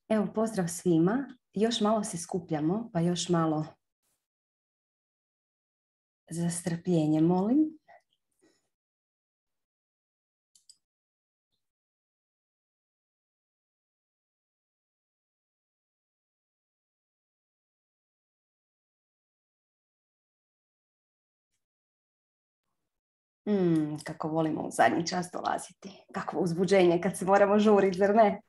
Evo, pozdrav svima. Još malo se skupljamo, pa još malo za strpljenje, molim. Kako volimo u zadnji čas dolaziti. Kakvo uzbuđenje kad se moramo žuriti, zar ne?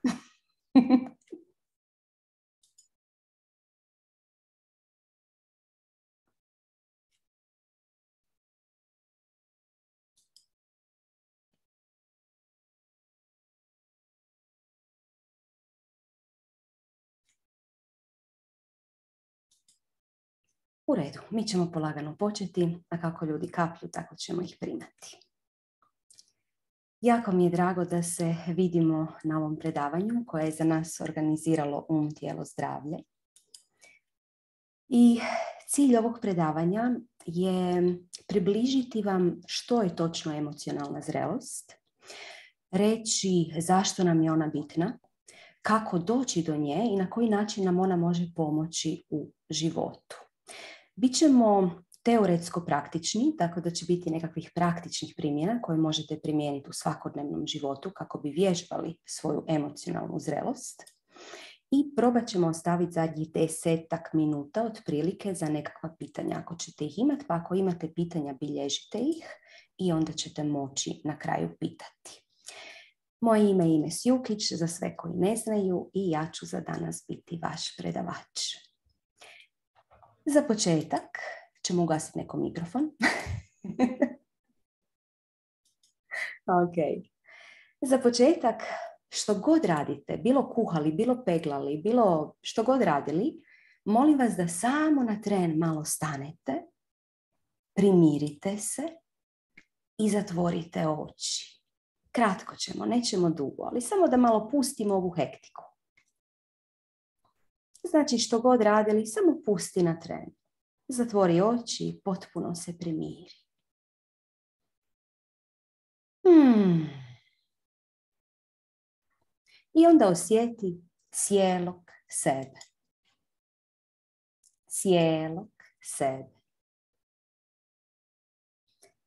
U redu, mi ćemo polagano početi, a kako ljudi kaplju, tako ćemo ih primati. Jako mi je drago da se vidimo na ovom predavanju koje je za nas organiziralo Tijelo, zdravlje. I cilj ovog predavanja je približiti vam što je točno emocionalna zrelost, reći zašto nam je ona bitna, kako doći do nje i na koji način nam ona može pomoći u životu. Bićemo teoretsko praktični, tako da će biti nekakvih praktičnih primjera koje možete primijeniti u svakodnevnom životu kako bi vježbali svoju emocionalnu zrelost. I probat ćemo ostaviti zadnjih 10 minuta otprilike za nekakva pitanja ako ćete ih imati, pa ako imate pitanja bilježite ih i onda ćete moći na kraju pitati. Moje ime je Ines Jukić, za sve koji ne znaju, i ja ću za danas biti vaš predavač. Za početak ćemo ugasiti neko mikrofon. Ok. Za početak, što god radite, bilo kuhali, bilo peglali, bilo što god radili, molim vas da samo na tren malo stanete, primirite se i zatvorite oči. Kratko ćemo, nećemo dugo, ali samo da malo pustimo ovu hektiku. Znači, što god radili, samo pusti na tren. Zatvori oči, potpuno se primiri. I onda osjeti cijelog sebe. Cijelog sebe.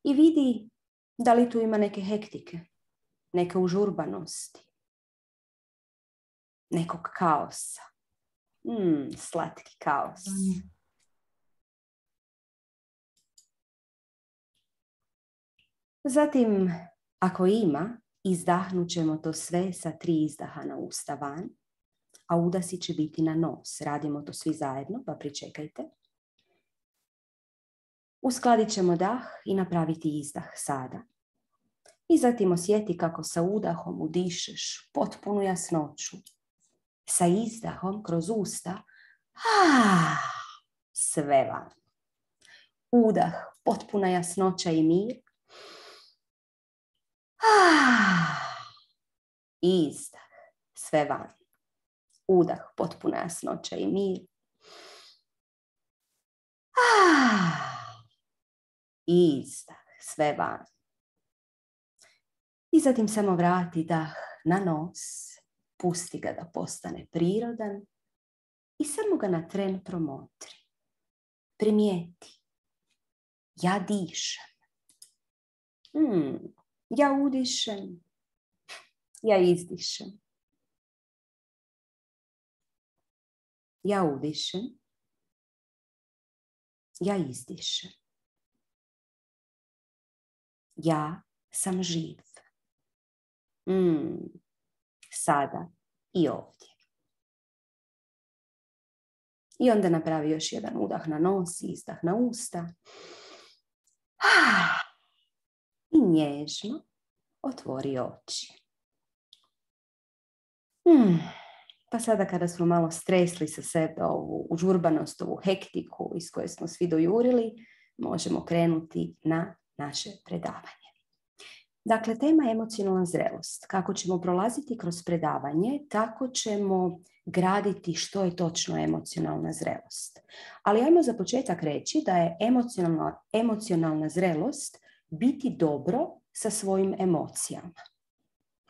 I vidi da li tu ima neke hektike, neke užurbanosti, nekog kaosa. Slatki kaos. Zatim, ako ima, izdahnut ćemo to sve sa 3 izdaha na usta van, a udasi će biti na nos. Radimo to svi zajedno, pa pričekajte. Uskladit ćemo dah i napraviti izdah sada. I zatim osjeti kako sa udahom udišeš potpunu jasnoću. Sa izdahom kroz usta, sve van. Udah, potpuna jasnoća i mir. Izdah, sve van. Udah, potpuna jasnoća i mir. Izdah, sve van. I zatim samo vrati dah na nos. Pusti ga da postane prirodan i samo ga na tren promotri. Primijeti. Ja dišem. Ja udišem. Ja izdišem. Ja udišem. Ja izdišem. Ja sam živ. Sada i ovdje. I onda napravi još jedan udah na nos i izdah na usta. I nježno otvori oči. Pa sada kada smo malo stresli sa sebe ovu užurbanost, ovu hektiku iz koje smo svi dojurili, možemo krenuti na naše predavanje. Dakle, tema je emocionalna zrelost. Kako ćemo prolaziti kroz predavanje, tako ćemo graditi što je točno emocionalna zrelost. Ali ajmo za početak reći da je emocionalna zrelost biti dobro sa svojim emocijama.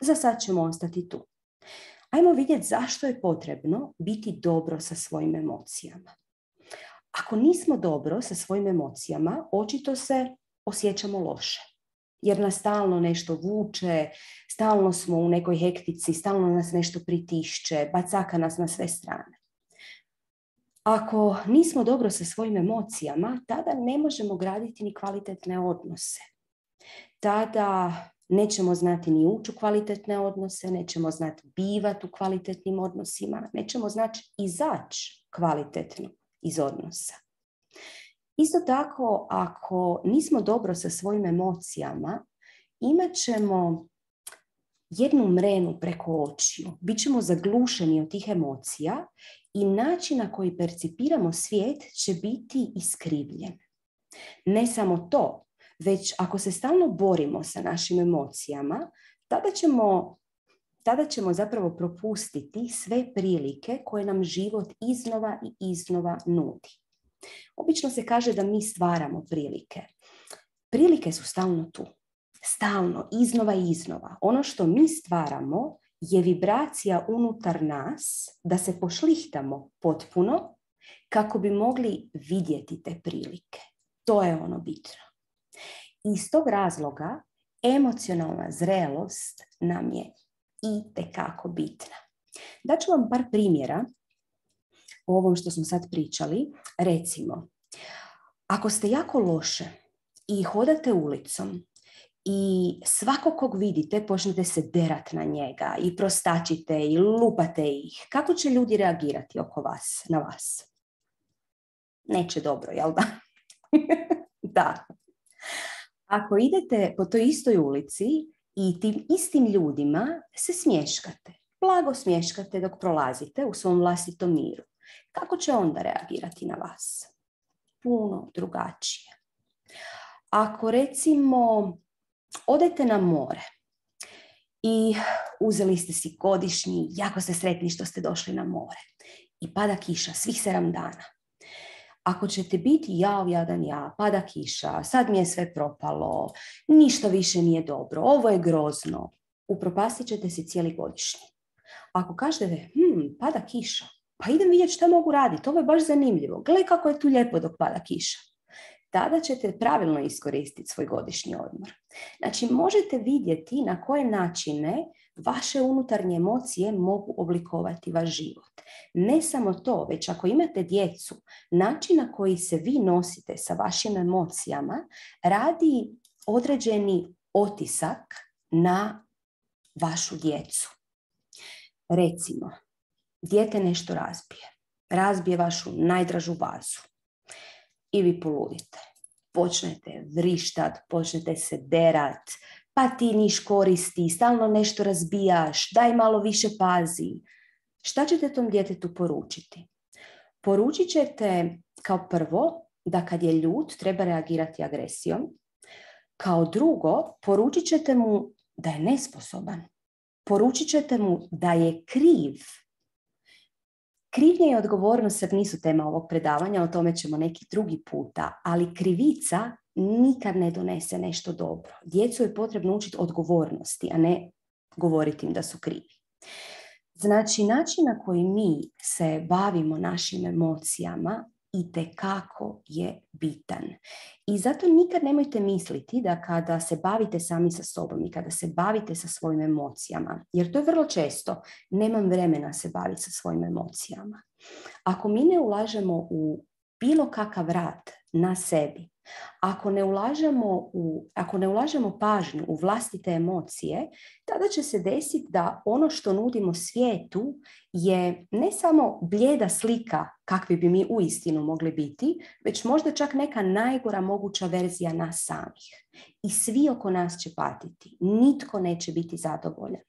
Za sad ćemo ostati tu. Ajmo vidjeti zašto je potrebno biti dobro sa svojim emocijama. Ako nismo dobro sa svojim emocijama, očito se osjećamo loše. Jer nas stalno nešto vuče, stalno smo u nekoj hektici, stalno nas nešto pritišće, bacaka nas na sve strane. Ako nismo dobro sa svojim emocijama, tada ne možemo graditi ni kvalitetne odnose. Tada nećemo znati ni ući u kvalitetne odnose, nećemo znati bivati u kvalitetnim odnosima, nećemo znati izaći kvalitetno iz odnosa. Isto tako, ako nismo dobro sa svojim emocijama, imat ćemo jednu mrenu preko očiju. Bićemo zaglušeni od tih emocija i način na koji percipiramo svijet će biti iskrivljen. Ne samo to, već ako se stalno borimo sa našim emocijama, tada ćemo zapravo propustiti sve prilike koje nam život iznova i iznova nudi. Obično se kaže da mi stvaramo prilike. Prilike su stalno tu. Stalno, iznova i iznova. Ono što mi stvaramo je vibracija unutar nas da se pošlihtamo potpuno kako bi mogli vidjeti te prilike. To je ono bitno. Iz tog razloga emocionalna zrelost nam je itekako bitna. Daću vam par primjera o ovom što smo sad pričali. Recimo, ako ste jako loše i hodate ulicom i svakog kog vidite počnete se derat na njega i prostačite i lupate ih, kako će ljudi reagirati oko vas, na vas? Neće dobro, jel da? Da. Ako idete po toj istoj ulici i tim istim ljudima se smješkate, blago smješkate dok prolazite u svom vlastitom miru, kako će onda reagirati na vas? Puno drugačije. Ako recimo odete na more i uzeli ste si godišnji, jako ste sretni što ste došli na more i pada kiša svih 7 dana. Ako ćete biti jadan ja, pada kiša, sad mi je sve propalo, ništa više nije dobro, ovo je grozno, upropastit ćete si cijeli godišnji. Ako kažete, pada kiša, pa idem vidjeti šta mogu raditi, ovo je baš zanimljivo, gle kako je tu lijepo dok pada kiša. Tada ćete pravilno iskoristiti svoj godišnji odmor. Znači, možete vidjeti na koje načine vaše unutarnje emocije mogu oblikovati vaš život. Ne samo to, već ako imate djecu, način na koji se vi nosite sa vašim emocijama radi određeni otisak na vašu djecu. Recimo, dijete nešto razbije vašu najdražu vazu. I vi poludite. Počnete vrištat, počnete se derat, pa ti niš koristi, stalno nešto razbijaš, daj malo više pazi. Šta ćete tom djetetu poručiti? Poručit ćete kao prvo da kad je ljut treba reagirati agresijom. Kao drugo, poručit ćete mu da je nesposoban. Poručit ćete mu da je kriv. Krivnja i odgovornost sad nisu tema ovog predavanja, o tome ćemo neki drugi puta, ali krivica nikad ne donese nešto dobro. Djecu je potrebno učiti odgovornosti, a ne govoriti im da su krivi. Znači, način na koji mi se bavimo našim emocijama itekako je bitan. I zato nikad nemojte misliti da kada se bavite sami sa sobom i kada se bavite sa svojim emocijama, jer to je vrlo često, nemam vremena se baviti sa svojim emocijama. Ako mi ne ulažemo u bilo kakav rad na sebi, ako ne ulažemo pažnju u vlastite emocije, tada će se desiti da ono što nudimo svijetu je ne samo blijeda slika kakvi bi mi uistinu mogli biti, već možda čak neka najgora moguća verzija nas samih. I svi oko nas će patiti. Nitko neće biti zadovoljan.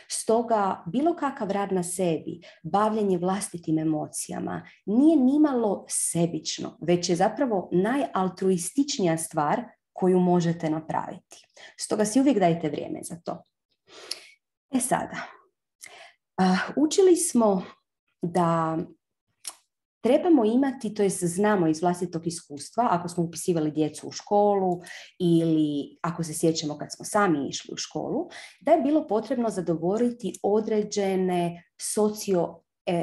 Stoga bilo kakav rad na sebi, bavljenje vlastitim emocijama nije nimalo sebično, već je zapravo najaltruističnija stvar koju možete napraviti. Stoga si uvijek dajte vrijeme za to. Sada, učili smo da trebamo imati, to jest znamo iz vlastitog iskustva, ako smo upisivali djecu u školu ili ako se sjećamo kad smo sami išli u školu, da je bilo potrebno zadovoljiti određene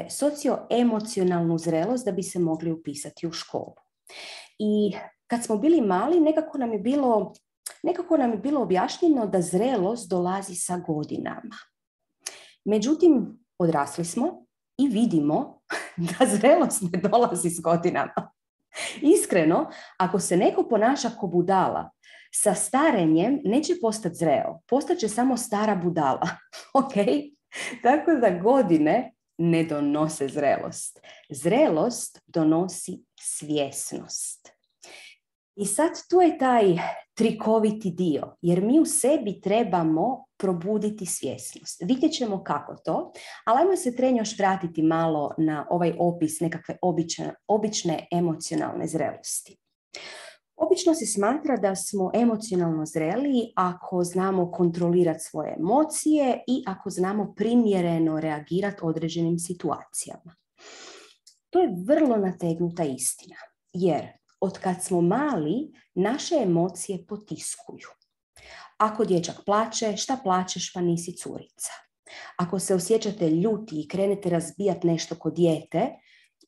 socioemocionalnu zrelost da bi se mogli upisati u školu. I kad smo bili mali, nekako nam je bilo objašnjeno da zrelost dolazi sa godinama. Međutim, odrasli smo i vidimo da zrelost ne dolazi s godinama. Iskreno, ako se neko ponaša ko budala, sa starenjem neće postati zreo, postaće samo stara budala. Ok? Tako da godine ne donose zrelost. Zrelost donosi svjesnost. I sad tu je taj trikoviti dio, jer mi u sebi trebamo probuditi svjesnost. Vidjet ćemo kako to, ali ajmo se još vratiti malo na ovaj opis nekakve obične emocionalne zrelosti. Obično se smatra da smo emocionalno zreli ako znamo kontrolirati svoje emocije i ako znamo primjereno reagirati određenim situacijama. To je vrlo nategnuta istina, jer od kad smo mali, naše emocije potiskuju. Ako dječak plače, šta plačeš pa nisi curica? Ako se osjećate ljuti i krenete razbijati nešto kod dijete,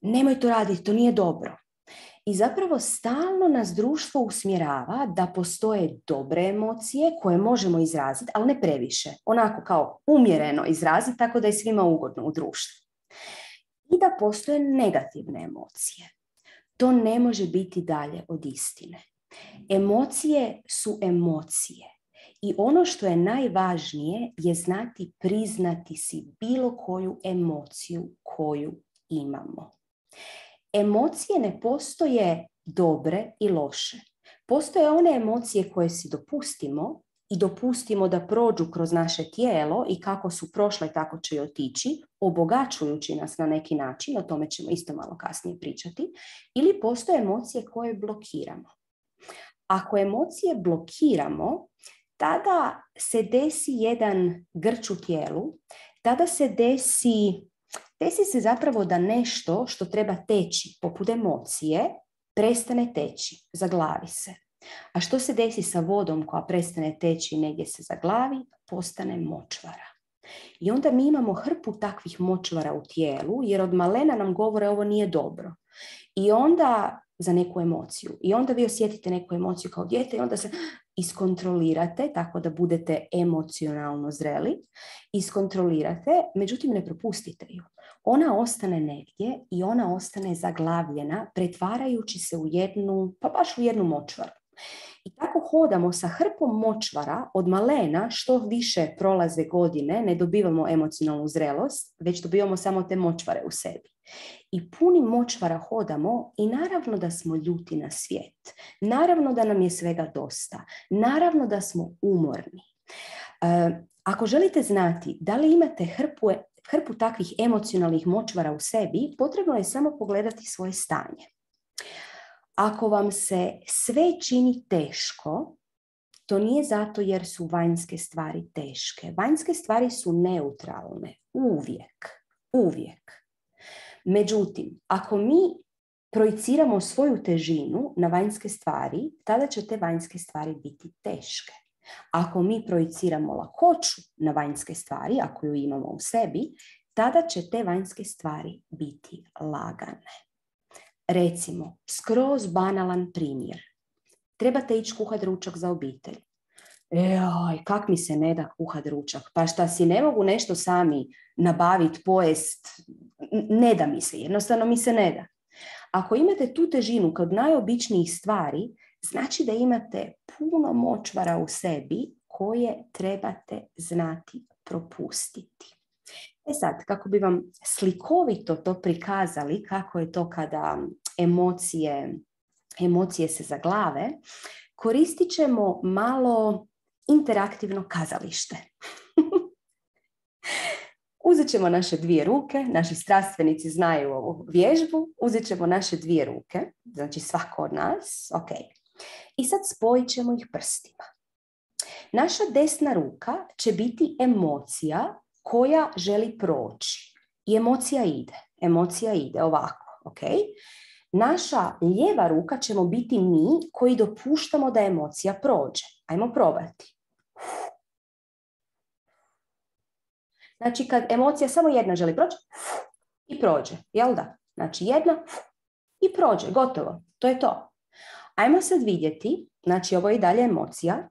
nemoj to raditi, to nije dobro. I zapravo stalno nas društvo usmjerava da postoje dobre emocije koje možemo izraziti, ali ne previše. Onako kao umjereno izraziti, tako da je svima ugodno u društvu. I da postoje negativne emocije. To ne može biti dalje od istine. Emocije su emocije. I ono što je najvažnije je znati priznati si bilo koju emociju koju imamo. Emocije ne postoje dobre i loše. Postoje one emocije koje si dopustimo i dopustimo da prođu kroz naše tijelo i kako su prošle tako će i otići, obogaćujući nas na neki način, o tome ćemo isto malo kasnije pričati, ili postoje emocije koje blokiramo. Ako emocije blokiramo, tada se desi jedan grč u tijelu, tada se desi se zapravo da nešto što treba teći, poput emocije, prestane teći, zaglavi se. A što se desi sa vodom koja prestane teći i negdje se zaglavi, postane močvara. I onda mi imamo hrpu takvih močvara u tijelu, jer od malena nam govore ovo nije dobro. I onda za neku emociju. I onda vi osjetite neku emociju kao dijete i onda se iskontrolirate, tako da budete emocionalno zreli. Iskontrolirate, međutim ne propustite ju. Ona ostane negdje i ona ostane zaglavljena, pretvarajući se u baš u jednu močvaru. I tako hodamo sa hrpom močvara od malena, što više prolaze godine, ne dobivamo emocionalnu zrelost, već dobivamo samo te močvare u sebi. I puni močvara hodamo i naravno da smo ljuti na svijet. Naravno da nam je svega dosta. Naravno da smo umorni. Ako želite znati da li imate hrpu takvih emocionalnih močvara u sebi, potrebno je samo pogledati svoje stanje. Ako vam se sve čini teško, to nije zato jer su vanjske stvari teške. Vanjske stvari su neutralne. Uvijek. Međutim, ako mi projiciramo svoju težinu na vanjske stvari, tada će te vanjske stvari biti teške. Ako mi projiciramo lakoću na vanjske stvari, ako ju imamo u sebi, tada će te vanjske stvari biti lagane. Recimo, skroz banalan primjer. Trebate ići kuhati ručak za obitelj. Kak mi se ne da kuhati ručak? Pa šta si ne mogu nešto sami nabaviti, pojest? Ne da mi se, jednostavno mi se ne da. Ako imate tu težinu kod najobičnijih stvari, znači da imate puno močvara u sebi koje trebate znati propustiti. Sad, kako bi vam slikovito to prikazali, kako je to kada emocije se zaglave, koristit ćemo malo interaktivno kazalište. Uzet ćemo naše dvije ruke, naši strastvenici znaju ovu vježbu, uzet ćemo naše dvije ruke, znači svako od nas, ok. I sad spojit ćemo ih prstima. Naša desna ruka će biti emocija koja želi proći. I emocija ide ovako. Ok? Naša lijeva ruka ćemo biti mi koji dopuštamo da emocija prođe. Ajmo probati. Znači, kad emocija samo jedna želi proći, i prođe, jel da? Znači, jedna i prođe, gotovo. To je to. Ajmo sad vidjeti, znači ovo je i dalje emocija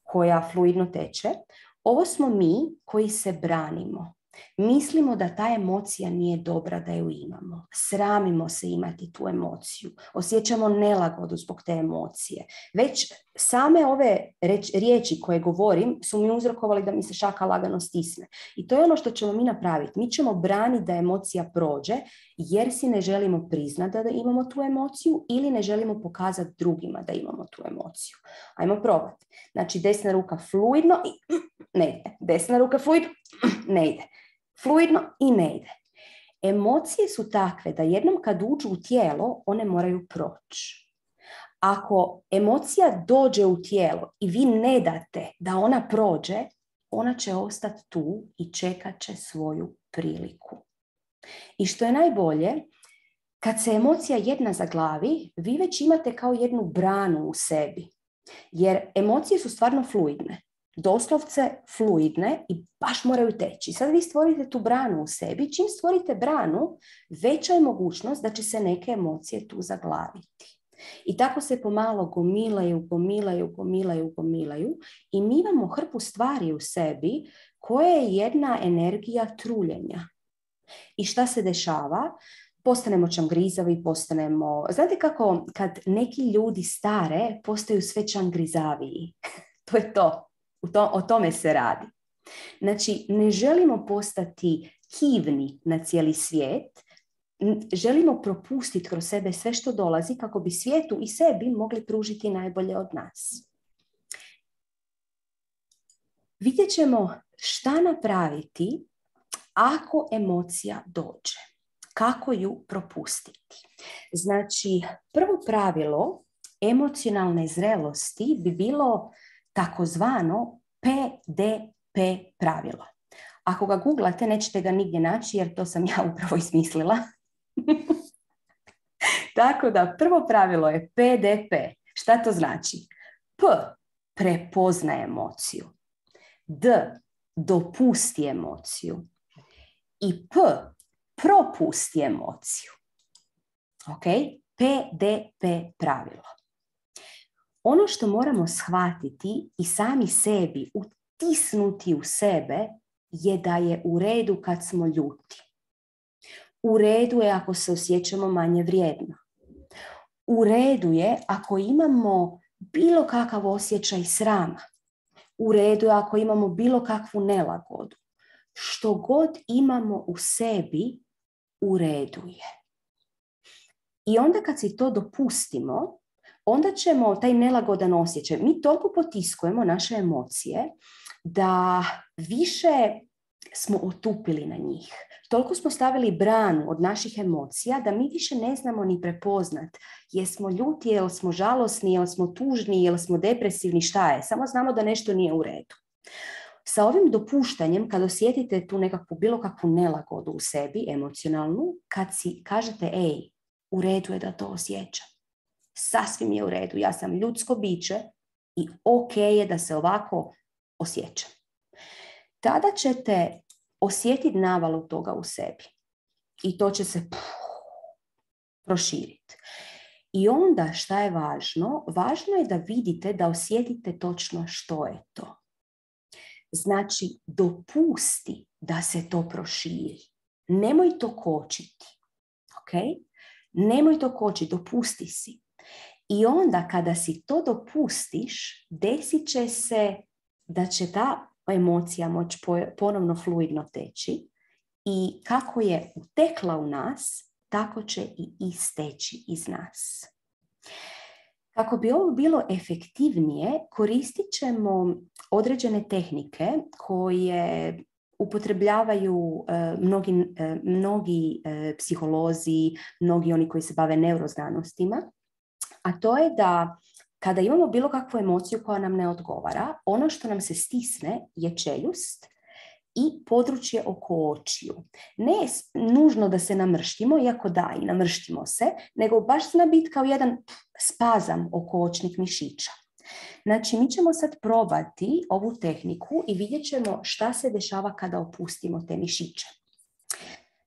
koja fluidno teče. Ovo smo mi koji se branimo. Mislimo da ta emocija nije dobra da ju imamo. Sramimo se imati tu emociju. Osjećamo nelagodu zbog te emocije. Već same ove riječi koje govorim su mi uzrokovali da mi se šaka lagano stisne. I to je ono što ćemo mi napraviti. Mi ćemo braniti da emocija prođe jer si ne želimo priznati da imamo tu emociju ili ne želimo pokazati drugima da imamo tu emociju. Ajmo probati. Znači desna ruka fluidno i ne ide. Desna ruka fluidno ne ide. Fluidno i ne ide. Emocije su takve da jednom kad uđu u tijelo, one moraju proći. Ako emocija dođe u tijelo i vi ne date da ona prođe, ona će ostati tu i čekat će svoju priliku. I što je najbolje, kad se emocija jedna zaglavi, vi već imate kao jednu branu u sebi. Jer emocije su stvarno fluidne. Doslovce fluidne i baš moraju teći. Sad vi stvorite tu branu u sebi. Čim stvorite branu, veća je mogućnost da će se neke emocije tu zaglaviti. I tako se pomalo gomilaju i mi imamo hrpu stvari u sebi koja je jedna energija truljenja. I šta se dešava? Postanemo čangrizavi, postanemo... Znate kako kad neki ljudi stare postaju sve čangrizaviji? To je to. O tome se radi. Znači, ne želimo postati kivni na cijeli svijet, želimo propustiti kroz sebe sve što dolazi kako bi svijetu i sebi mogli pružiti najbolje od nas. Vidjet ćemo šta napraviti ako emocija dođe. Kako ju propustiti. Znači, prvo pravilo emocionalne zrelosti bi bilo takozvano PDP pravilo. Ako ga googlate, nećete ga nigdje naći jer to sam ja upravo izmislila. Tako da prvo pravilo je PDP. Šta to znači? P. Prepoznaj emociju. D. Dopusti emociju. I P. Propusti emociju. Ok? PDP pravilo. Ono što moramo shvatiti i sami sebi utisnuti u sebe je da je u redu kad smo ljuti. U redu je ako se osjećamo manje vrijedno. U redu je ako imamo bilo kakav osjećaj srama. U redu je ako imamo bilo kakvu nelagodu. Što god imamo u sebi, u redu je. I onda kad si to dopustimo, onda ćemo taj nelagodan osjećaj, mi toliko potiskujemo naše emocije da više smo otupili na njih. Toliko smo stavili branu od naših emocija da mi više ne znamo ni prepoznat jesmo ljuti, jel smo žalosni, jel smo tužni, jel smo depresivni, šta je. Samo znamo da nešto nije u redu. Sa ovim dopuštanjem, kad osjetite tu nekakvu bilo kakvu nelagodu u sebi, emocionalnu, kad si kažete, ej, u redu je da to osjećam. Sasvim je u redu, ja sam ljudsko biće i ok je da se ovako osjećam. Tada ćete osjetiti navalu toga u sebi i to će se proširiti. I onda šta je važno? Važno je da vidite, da osjetite točno što je to. Znači, dopusti da se to proširi. Nemoj to kočiti. Ok? Nemoj to kočiti, dopusti si. I onda kada si to dopustiš, desit će se da će ta emocija moći ponovno fluidno teći i kako je utekla u nas, tako će i isteći iz nas. Kako bi ovo bilo efektivnije, koristit ćemo određene tehnike koje upotrebljavaju mnogi psiholozi, mnogi oni koji se bave neuroznanostima, a to je da kada imamo bilo kakvu emociju koja nam ne odgovara, ono što nam se stisne je čeljust i područje oko očiju. Ne nužno da se namrštimo, iako da, i namrštimo se, nego baš zna biti kao jedan spazam oko očnih mišića. Znači, mi ćemo sad probati ovu tehniku i vidjet ćemo šta se dešava kada opustimo te mišiće.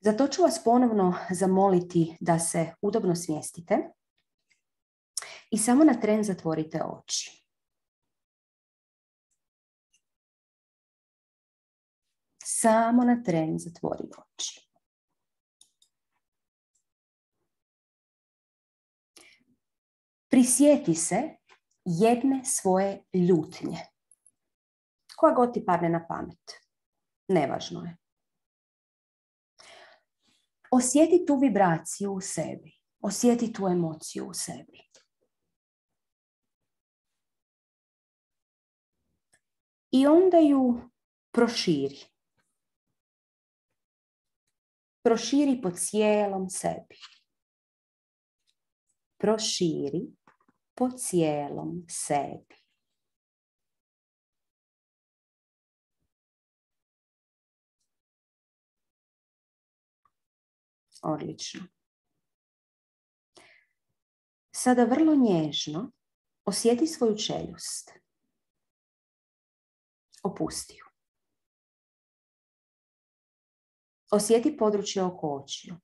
Zato ću vas ponovno zamoliti da se udobno smjestite i samo na tren zatvorite oči. Samo na tren zatvori oči. Prisjeti se jedne svoje ljutnje. Koja god ti padne na pamet. Nevažno je. Osjeti tu vibraciju u sebi. Osjeti tu emociju u sebi. I onda ju proširi. Proširi po cijelom sebi. Proširi po cijelom sebi. Odlično. Sada vrlo nježno osjeti svoju čeljust. Opusti ju. Osjeti područje oko očiju.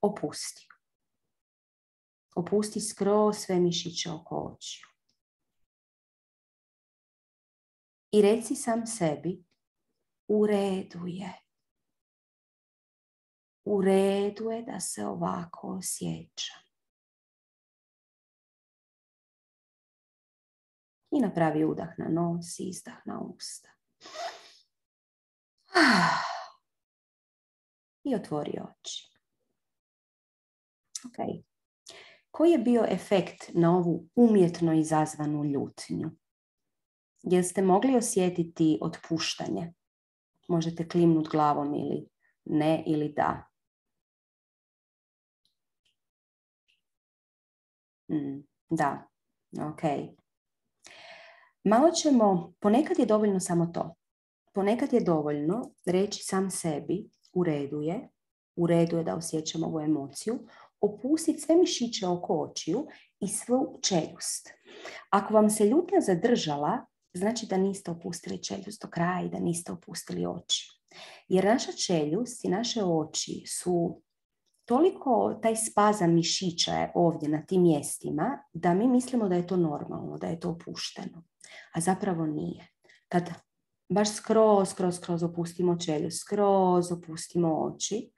Opusti ju. Opusti skroz sve mišiće oko očiju. I reci sam sebi, u redu je. U redu je da se ovako osjećam. I napravi udah na nos, izdah na usta. I otvori oči. Ok. Koji je bio efekt na ovu umjetno izazvanu ljutnju? Jeste mogli osjetiti otpuštanje? Možete klimnuti glavom ili ne ili da. Da, ok. Malo ćemo, ponekad je dovoljno samo to. Ponekad je dovoljno reći sam sebi, u redu je da osjećam ovu emociju, opustiti sve mišiće oko očiju i svu čeljust. Ako vam se ljutnja zadržala, znači da niste opustili čeljust do kraja i da niste opustili oči. Jer naša čeljust i naše oči su toliko, taj spazam mišića je ovdje na tim mjestima, da mi mislimo da je to normalno, da je to opušteno. A zapravo nije. Kad baš skroz opustimo čeljust, skroz opustimo oči,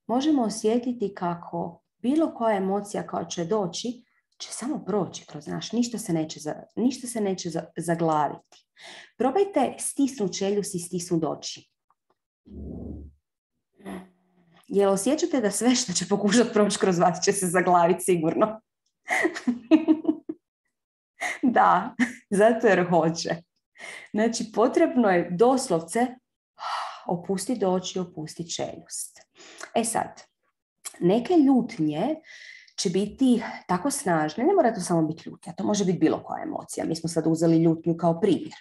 možemo osjetiti kako bilo koja emocija koja će doći, će samo proći kroz naš, ništa se neće zaglaviti. Probajte stisnuti čeljust i stisnuti oči. Jel osjećate da sve što će pokušati proći kroz vas će se zaglaviti sigurno? Da, zato jer hoće. Znači, potrebno je doslovce opustiti oči, opustiti čeljust. E sad, neke ljutnje će biti tako snažne, ne mora to samo biti ljutnja, to može biti bilo koja emocija. Mi smo sad uzeli ljutnju kao primjer.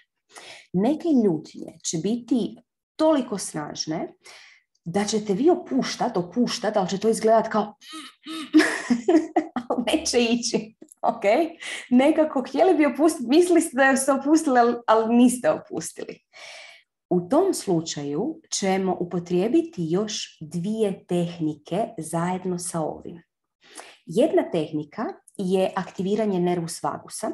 Neke ljutnje će biti toliko snažne da ćete vi opuštati, ali će to izgledati kao ali neće ići. Okay? Nekako htjeli bi opustiti, mislili ste da ste opustili, ali niste opustili. U tom slučaju ćemo upotrijebiti još 2 tehnike zajedno sa ovim. Jedna tehnika je aktiviranje nervus vagusa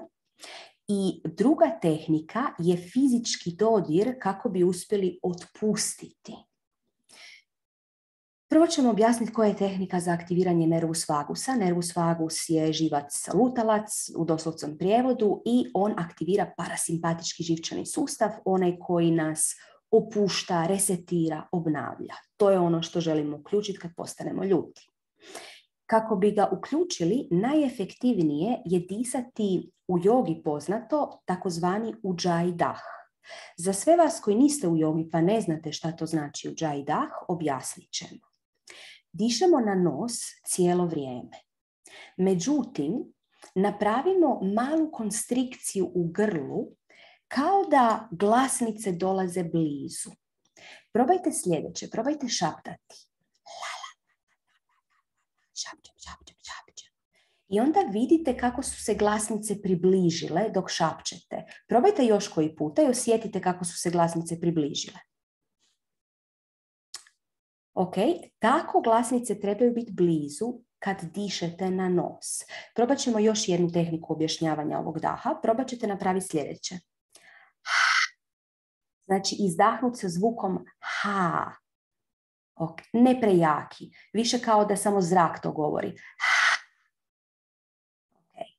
i druga tehnika je fizički dodir kako bi uspjeli otpustiti. Prvo ćemo objasniti koja je tehnika za aktiviranje nervus vagusa. Nervus vagus je živac lutalac u doslovnom prijevodu i on aktivira parasimpatički živčani sustav, onaj koji nas opušta, resetira, obnavlja. To je ono što želimo uključiti kad postanemo ljuti. Kako bi ga uključili, najefektivnije je disati u jogi poznato takozvani Ujjayi dah. Za sve vas koji niste u jogi pa ne znate šta to znači Ujjayi dah, objasnit ćemo. Dišemo na nos cijelo vrijeme. Međutim, napravimo malu konstrikciju u grlu kao da glasnice dolaze blizu. Probajte sljedeće, probajte šaptati. Šapćem, šapćem, šapćem. I onda vidite kako su se glasnice približile dok šapćete. Probajte još koji puta i osjetite kako su se glasnice približile. Ok, tako glasnice trebaju biti blizu kad dišete na nos. Probat ćemo još jednu tehniku objašnjavanja ovog daha. Probat ćete napraviti sljedeće. Znači, izdahnut sa zvukom ha. Okay. Ne prejaki. Više kao da samo zrak to govori. Okay.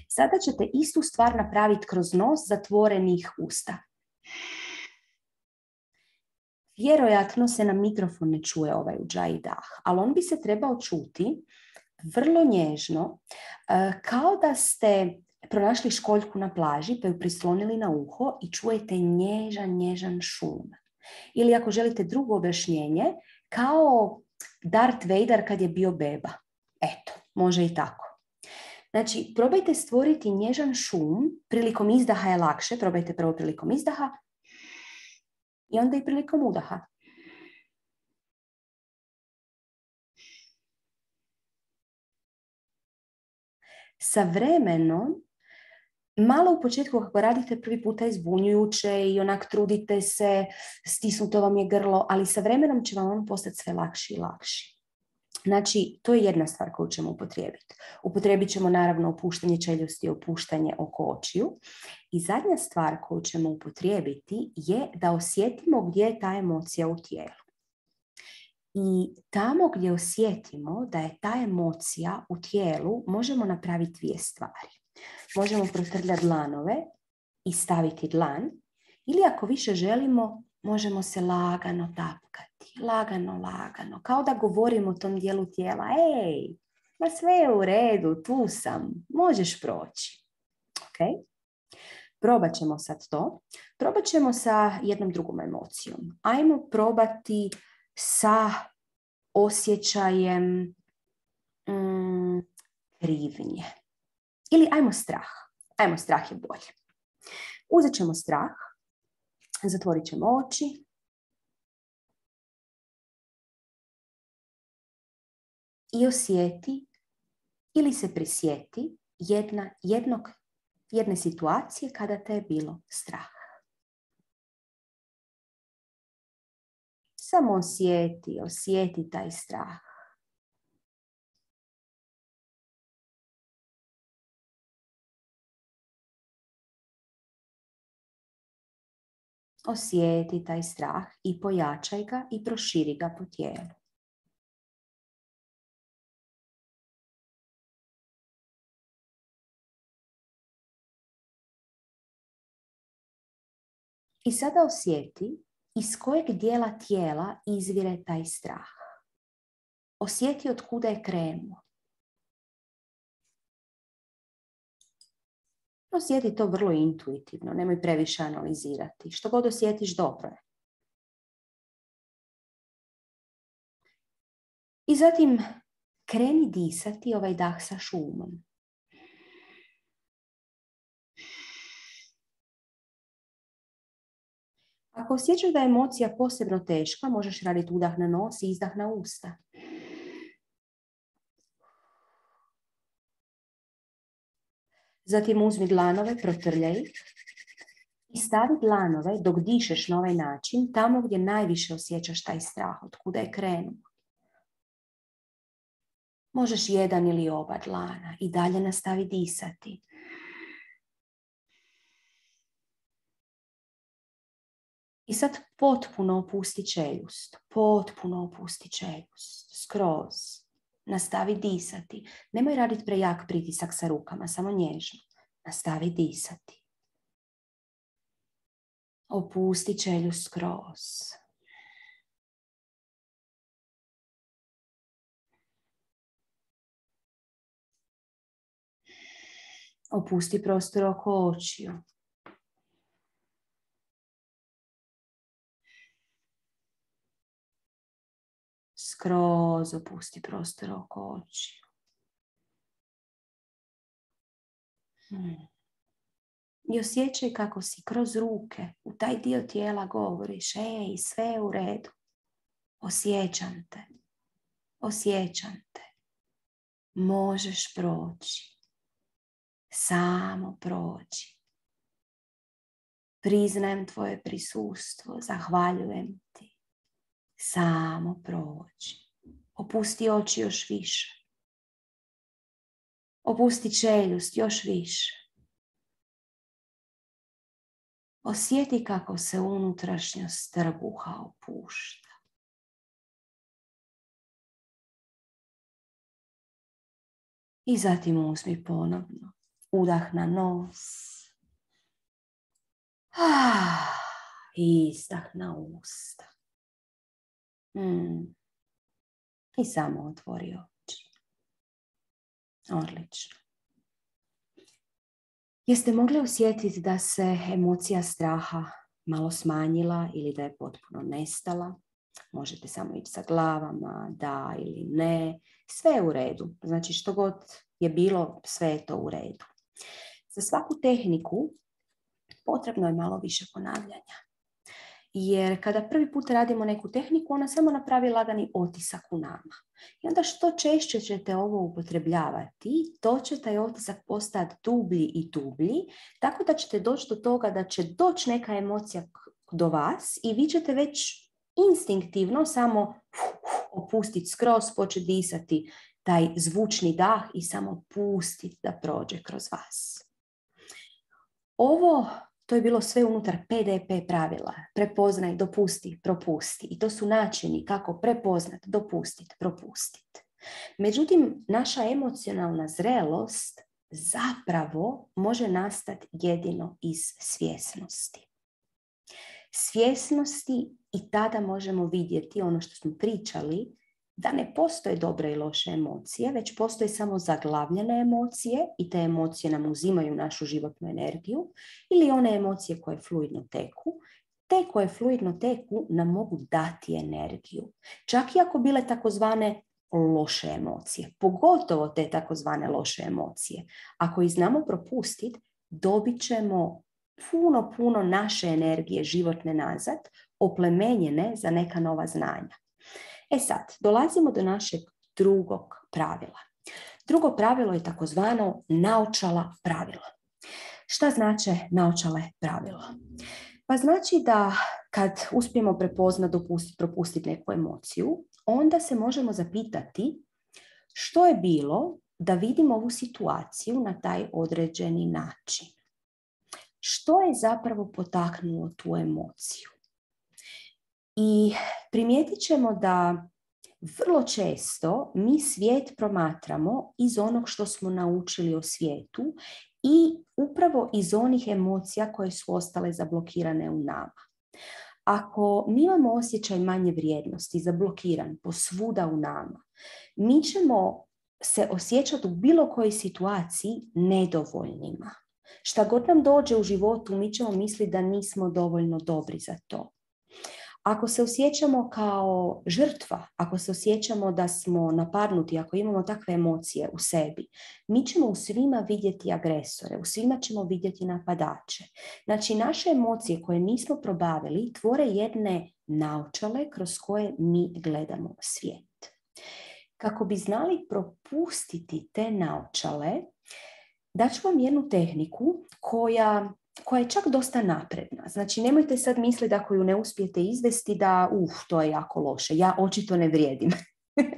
Sada ćete istu stvar napraviti kroz nos zatvorenih usta. Vjerojatno se na mikrofon ne čuje ovaj udžaj dah, ali on bi se trebao čuti vrlo nježno, kao da ste pronašli školjku na plaži pa ju prislonili na uho i čujete nježan šum. Ili ako želite drugo objašnjenje, kao Darth Vader kad je bio beba. Eto, može i tako. Znači, probajte stvoriti nježan šum, prilikom izdaha je lakše, probajte prvo prilikom izdaha i onda i prilikom udaha. Sa vremenom, malo u početku kako radite prvi puta je zbunjujuće i onak trudite se, stisnuto vam je grlo, ali sa vremenom će vam on postati sve lakši i lakši. Znači, to je jedna stvar koju ćemo upotrijebiti. Upotrijebit ćemo naravno opuštanje čeljusti i opuštanje oko očiju. I zadnja stvar koju ćemo upotrijebiti je da osjetimo gdje je ta emocija u tijelu. I tamo gdje osjetimo da je ta emocija u tijelu, možemo napraviti dvije stvari. Možemo protrljati dlanove i staviti dlan, ili ako više želimo, možemo se lagano tapkati. Lagano, kao da govorimo o tom dijelu tijela. Ej, ma sve je u redu, tu sam, možeš proći. Ok? Probat ćemo sad to. Probat ćemo sa jednom drugom emocijom. Ajmo probati sa osjećajem krivnje. Ili ajmo strah. Ajmo, strah je bolje. Uzet ćemo strah, zatvorit ćemo oči i osjeti ili se prisjeti jedne situacije kada te je bilo strah. Samo osjeti taj strah. Osjeti taj strah i pojačaj ga i proširi ga po tijelu. I sada osjeti iz kojeg dijela tijela izvire taj strah. Osjeti od kuda je krenuo. Osjeti to vrlo intuitivno, nemoj previše analizirati. Što god osjetiš, dobro je. I zatim kreni disati ovaj dah sa šumom. Ako osjećaš da je emocija posebno teška, možeš raditi udah na nos i izdah na usta. Zatim uzmi dlanove, protrljaj i stavi dlanove dok dišeš na ovaj način tamo gdje najviše osjećaš taj strah, od kuda je krenuo. Možeš jedan ili oba dlana i dalje nastavi disati. I sad potpuno opusti čeljust. Potpuno opusti čeljust. Skroz. Nastavi disati. Nemoj raditi prejak pritisak sa rukama, samo nježno. Nastavi disati. Opusti čeljust skroz. Opusti prostor oko očiju. Skroz opusti prostor oko očiju. I osjećaj kako si kroz ruke u taj dio tijela govoriš, ej, sve je u redu. Osjećam te. Osjećam te. Možeš proći. Samo proći. Priznajem tvoje prisustvo. Zahvaljujem ti. Samo proći. Opusti oči još više. Opusti čeljust još više. Osjeti kako se unutrašnjost trbuha opušta. I zatim uzmi ponovno. Udah na nos. I izdah na usta. I samo otvori oči. Odlično. Jeste mogli osjetiti da se emocija straha malo smanjila ili da je potpuno nestala? Možete samo ići sa glavama, da ili ne. Sve je u redu. Znači što god je bilo, sve je to u redu. Za svaku tehniku potrebno je malo više ponavljanja. Jer kada prvi put radimo neku tehniku, ona samo napravi lagani otisak u nama. I onda što češće ćete ovo upotrebljavati, to će taj otisak postati dublji i dublji, tako da ćete doći do toga da će doći neka emocija do vas i vi ćete već instinktivno samo opustiti skroz, početi disati taj zvučni dah i samo pustiti da prođe kroz vas. To je bilo sve unutar PDP pravila. Prepoznaj, dopusti, propusti. I to su načini kako prepoznati, dopustiti, propustiti. Međutim, naša emocionalna zrelost zapravo može nastati jedino iz svjesnosti. Svjesnosti i tada možemo vidjeti ono što smo pričali, da ne postoje dobre i loše emocije, već postoje samo zaglavljene emocije i te emocije nam uzimaju našu životnu energiju, ili one emocije koje fluidno teku. Te koje fluidno teku nam mogu dati energiju. Čak i ako bile takozvane loše emocije, pogotovo te takozvane loše emocije. Ako ih znamo propustiti, dobit ćemo puno naše energije životne nazad, oplemenjene za neka nova znanja. Sad, dolazimo do našeg drugog pravila. Drugo pravilo je takozvano naočala pravilo. Šta znače naočale pravila? Pa znači da kad uspijemo prepoznati, dopustiti, propustiti neku emociju, onda se možemo zapitati što je bilo da vidimo ovu situaciju na taj određeni način. Što je zapravo potaknulo tu emociju? I primijetit ćemo da vrlo često mi svijet promatramo iz onog što smo naučili o svijetu i upravo iz onih emocija koje su ostale zablokirane u nama. Ako mi imamo osjećaj manje vrijednosti, zablokiran posvuda u nama, mi ćemo se osjećati u bilo kojoj situaciji nedovoljnima. Šta god nam dođe u životu, mi ćemo misliti da nismo dovoljno dobri za to. Ako se osjećamo kao žrtva, ako se osjećamo da smo napadnuti, ako imamo takve emocije u sebi, mi ćemo u svima vidjeti agresore, u svima ćemo vidjeti napadače. Znači, naše emocije koje nismo probavili tvore jedne naočale kroz koje mi gledamo svijet. Kako bi znali propustiti te naočale, daću vam jednu tehniku koja je čak dosta napredna. Znači, nemojte sad misliti da ako ju ne uspijete izvesti da to je jako loše. Ja očito ne vrijedim.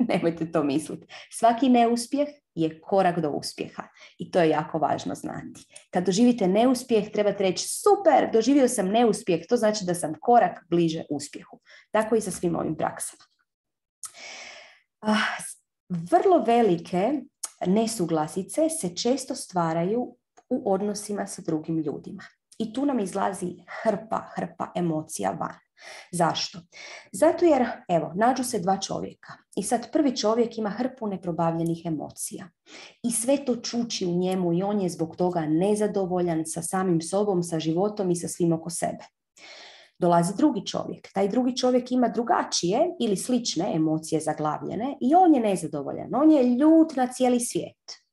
Nemojte to misliti. Svaki neuspjeh je korak do uspjeha. I to je jako važno znati. Kad doživite neuspjeh, trebate reći super, doživio sam neuspjeh. To znači da sam korak bliže uspjehu. Tako i sa svim ovim praksama. Vrlo velike nesuglasice se često stvaraju u odnosima sa drugim ljudima. I tu nam izlazi hrpa emocija van. Zašto? Zato jer, nađu se dva čovjeka. I sad prvi čovjek ima hrpu neprobavljenih emocija. I sve to čuči u njemu i on je zbog toga nezadovoljan sa samim sobom, sa životom i sa svim oko sebe. Dolazi drugi čovjek. Taj drugi čovjek ima drugačije ili slične emocije zaglavljene i on je nezadovoljan. On je ljut na cijeli svijet.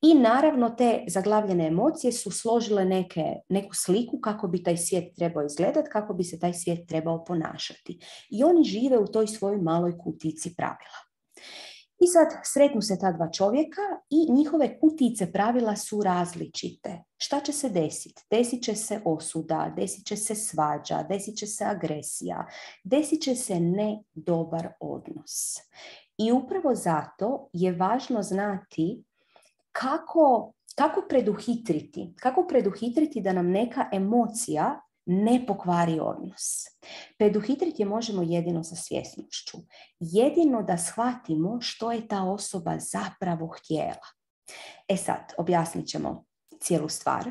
I naravno te zaglavljene emocije su složile neku sliku kako bi taj svijet trebao izgledati, kako bi se taj svijet trebao ponašati. I oni žive u toj svojoj maloj kutici pravila. I sad sretnu se ta dva čovjeka i njihove kutice pravila su različite. Šta će se desiti? Desit će se osuda, desit će se svađa, desit će se agresija, desit će se nedobar odnos. I upravo zato je važno znati kako preduhitriti da nam neka emocija ne pokvari odnos. Preduhitriti je možemo jedino sa svjesnošću. Jedino da shvatimo što je ta osoba zapravo htjela. E sad, objasnit ćemo cijelu stvar.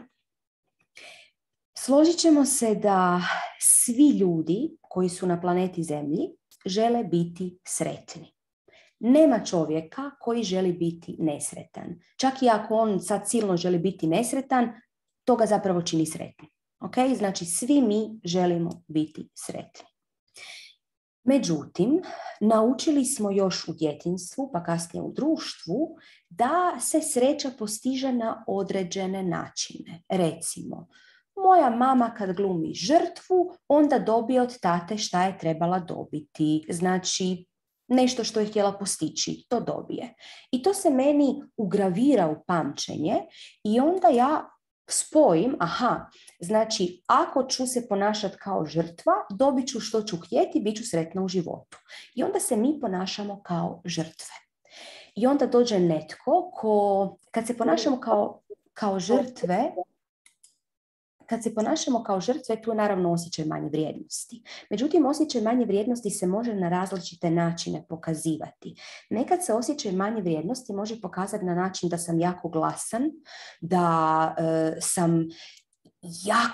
Složit ćemo se da svi ljudi koji su na planeti Zemlji žele biti sretni. Nema čovjeka koji želi biti nesretan. Čak i ako on sad silno želi biti nesretan, to ga zapravo čini sretnim. Okay? Znači, svi mi želimo biti sretni. Međutim, naučili smo još u djetinjstvu, pa kasnije u društvu, da se sreća postiže na određene načine. Recimo, moja mama kad glumi žrtvu, onda dobije od tate šta je trebala dobiti. Znači, nešto što je htjela postići, to dobije. I to se meni ugravira u pamćenje i onda ja spojim, znači ako ću se ponašati kao žrtva, dobit ću što ću htjeti, bit ću sretna u životu. I onda se mi ponašamo kao žrtve. I onda dođe netko kad se ponašamo kao žrtve, tu je naravno osjećaj manje vrijednosti. Međutim, osjećaj manje vrijednosti se može na različite načine pokazivati. Nekad se osjećaj manje vrijednosti može pokazati na način da sam jako glasan, da sam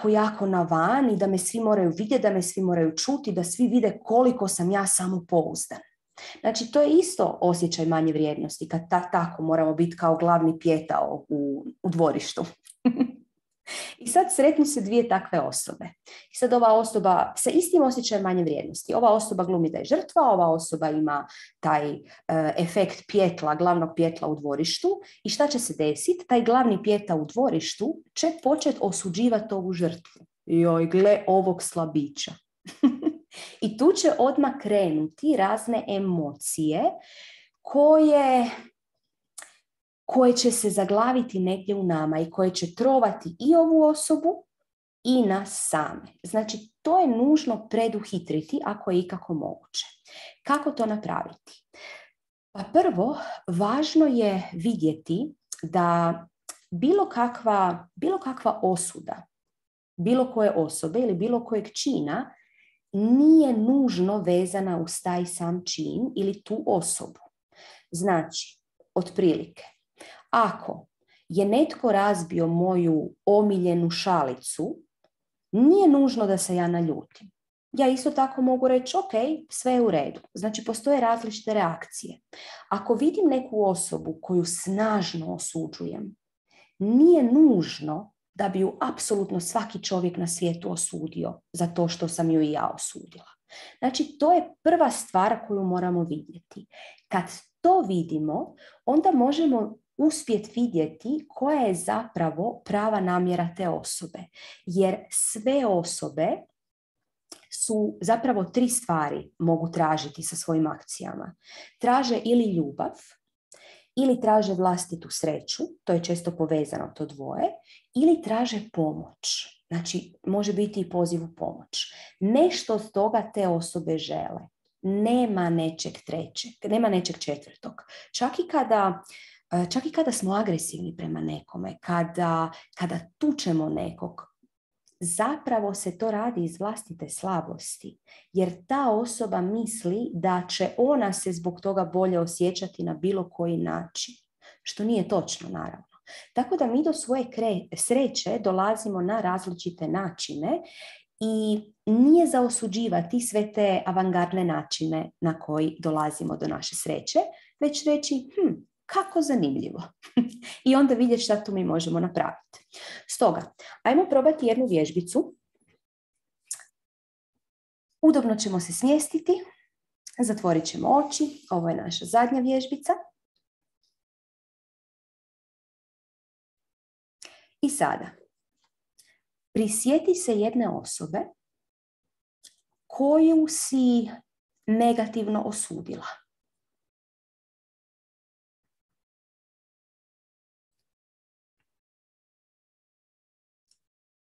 jako na van i da me svi moraju vidjeti, da me svi moraju čuti, da svi vide koliko sam ja samopouzdan. Znači, to je isto osjećaj manje vrijednosti, kad tako moramo biti kao glavni pijetao u dvorištu. I sad sretnu se dvije takve osobe. I sad ova osoba sa istim osjećajem manje vrijednosti. Ova osoba glumi da je žrtva, ova osoba ima taj efekt pjetla, glavnog pjetla u dvorištu. I šta će se desiti? Taj glavni pjeta u dvorištu će početi osuđivati ovu žrtvu. Joj, gle ovog slabića. I tu će odmah krenuti razne emocije koje će se zaglaviti negdje u nama i koje će trovati i ovu osobu i nas same. Znači, to je nužno preduhitriti ako je ikako moguće. Kako to napraviti? Pa prvo, važno je vidjeti da bilo kakva osuda, bilo koje osobe ili bilo kojeg čina nije nužno vezana uz taj sam čin ili tu osobu. Znači, otprilike, ako je netko razbio moju omiljenu šalicu, nije nužno da se ja naljutim. Ja isto tako mogu reći, ok, sve je u redu. Znači, postoje različite reakcije. Ako vidim neku osobu koju snažno osuđujem, nije nužno da bi ju apsolutno svaki čovjek na svijetu osudio za to što sam ju i ja osudila. Znači, to je prva stvar koju moramo vidjeti. Kad to vidimo, onda možemo uspjeti vidjeti koja je zapravo prava namjera te osobe. Jer sve osobe su zapravo 3 stvari mogu tražiti sa svojim akcijama. Traže ili ljubav, ili traže vlastitu sreću, to je često povezano to dvoje, ili traže pomoć. Znači, može biti i poziv u pomoć. Nešto od toga te osobe žele. Nema nečeg trećeg, nema nečeg četvrtog. Čak i kada smo agresivni prema nekome, kada tučemo nekog, zapravo se to radi iz vlastite slabosti, jer ta osoba misli da će ona se zbog toga bolje osjećati na bilo koji način, što nije točno, naravno. Tako da mi do svoje sreće dolazimo na različite načine i nije za osuđivati sve te avangardne načine na koji dolazimo do naše sreće, već reći, kako zanimljivo. I onda vidjeti šta tu mi možemo napraviti. Stoga, ajmo probati jednu vježbicu. Udobno ćemo se smjestiti, zatvorit ćemo oči. Ovo je naša zadnja vježbica. sada, prisjeti se jedne osobe koju si negativno osudila.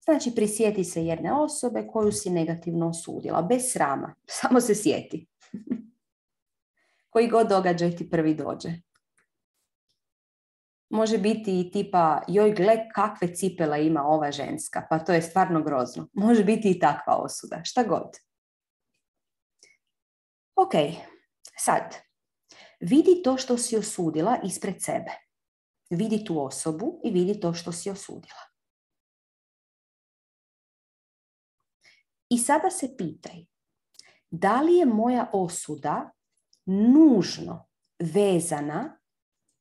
Znači, prisjeti se jedne osobe koju si negativno osudila, bez srama, samo se sjeti. Koji god događaj ti prvi dođe. Može biti i tipa, joj gle kakve cipele ima ova ženska, pa to je stvarno grozno. Može biti i takva osuda, šta god. Ok, sad, vidi to što si osudila ispred sebe. Vidi tu osobu i vidi to što si osudila. I sada se pitaj, da li je moja osuda nužno vezana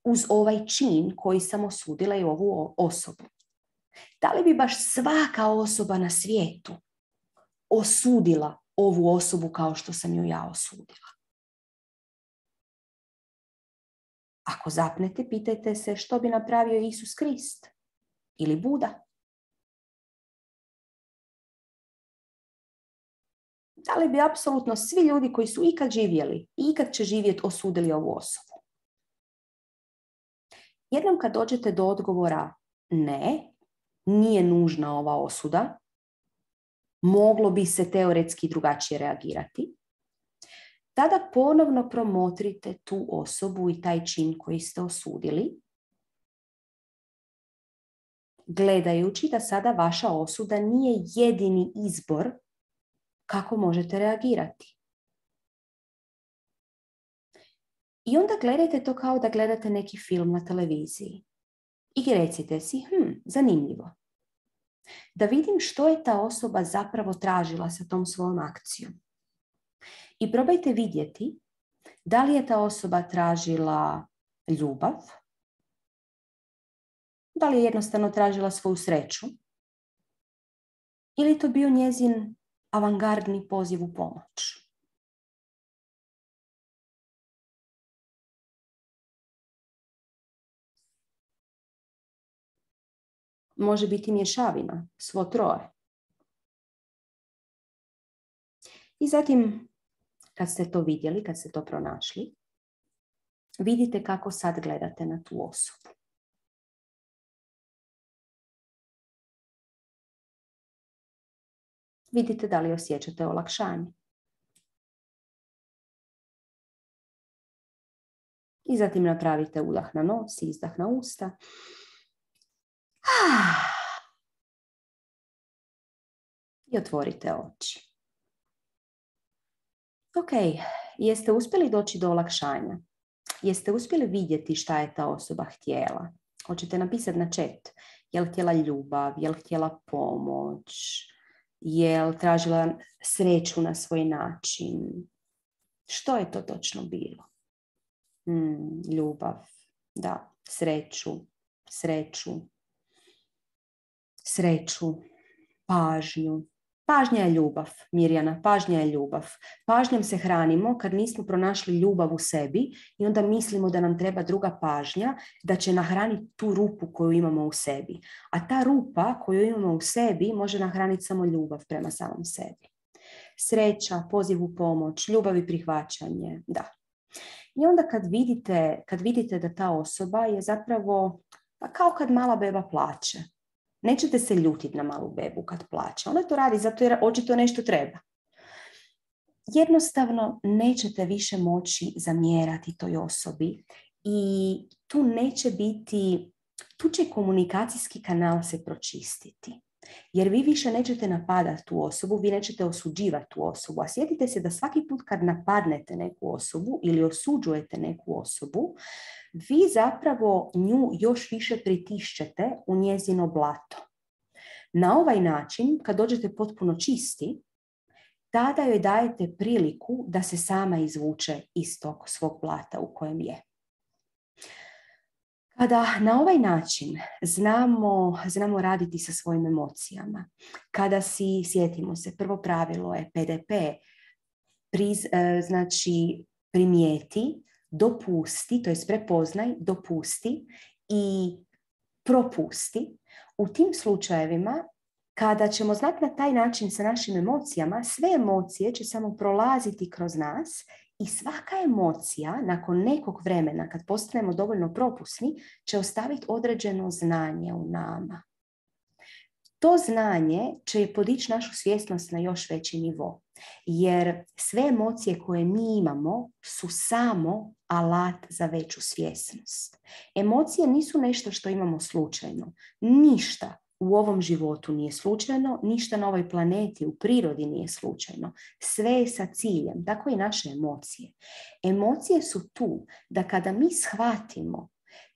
uz ovaj čin koji sam osudila i ovu osobu? Da li bi baš svaka osoba na svijetu osudila ovu osobu kao što sam ju ja osudila? Ako zapnete, pitajte se što bi napravio Isus Krist ili Buda. Da li bi apsolutno svi ljudi koji su ikad živjeli i ikad će živjeti osudili ovu osobu? Jednom kad dođete do odgovora ne, nije nužna ova osuda, moglo bi se teoretski drugačije reagirati, tada ponovno promotrite tu osobu i taj čin koji ste osudili, gledajući da sada vaša osuda nije jedini izbor kako možete reagirati. I onda gledajte to kao da gledate neki film na televiziji. I recite si, zanimljivo. Da vidim što je ta osoba zapravo tražila sa tom svojom akcijom. I probajte vidjeti da li je ta osoba tražila ljubav, da li je jednostavno tražila svoju sreću, ili je to bio njezin avangardni poziv u pomoć. Može biti mješavina, svo troje. I zatim, kad ste to vidjeli, kad ste to pronašli, vidite kako sad gledate na tu osobu. Vidite da li osjećate olakšanje. I zatim napravite udah na nos i izdah na usta. I otvorite oči. Ok, jeste uspjeli doći do olakšanja? Jeste uspjeli vidjeti šta je ta osoba htjela? Hoćete napisati na chat. Je li htjela ljubav? Je li htjela pomoć? Je li tražila sreću na svoj način? Što je to točno bilo? Ljubav, da, sreću, pažnju. Pažnja je ljubav, Mirjana, pažnja je ljubav. Pažnjom se hranimo kad nismo pronašli ljubav u sebi i onda mislimo da nam treba druga pažnja da će nahraniti tu rupu koju imamo u sebi. A ta rupa koju imamo u sebi može nahraniti samo ljubav prema samom sebi. Sreća, poziv u pomoć, ljubav i prihvaćanje, da. I onda kad vidite da ta osoba je zapravo kao kad mala beba plače. Nećete se ljutiti na malu bebu kad plače. Ona to radi zato jer očito nešto treba. Jednostavno nećete više moći zamjerati toj osobi i tu će komunikacijski kanal se pročistiti. Jer vi više nećete napadati tu osobu, vi nećete osuđivati tu osobu. A sjetite se da svaki put kad napadnete neku osobu ili osuđujete neku osobu, vi zapravo nju još više pritišćete u njezino blato. Na ovaj način, kad dođete potpuno čisti, tada joj dajete priliku da se sama izvuče iz tog svog blata u kojem je. Kada na ovaj način znamo raditi sa svojim emocijama, kada sjetimo se, prvo pravilo je PDP, znači primijeti, dopusti, to jest prepoznaj, dopusti i propusti. U tim slučajevima, kada ćemo znati na taj način sa našim emocijama, sve emocije će samo prolaziti kroz nas i svaka emocija, nakon nekog vremena, kad postanemo dovoljno propusni, će ostaviti određeno znanje u nama. To znanje će podići našu svjesnost na još veći nivo. Jer sve emocije koje mi imamo su samo alat za veću svjesnost. Emocije nisu nešto što imamo slučajno. Ništa u ovom životu nije slučajno, ništa na ovoj planeti, u prirodi nije slučajno. Sve je sa ciljem, tako i naše emocije. Emocije su tu da kada mi shvatimo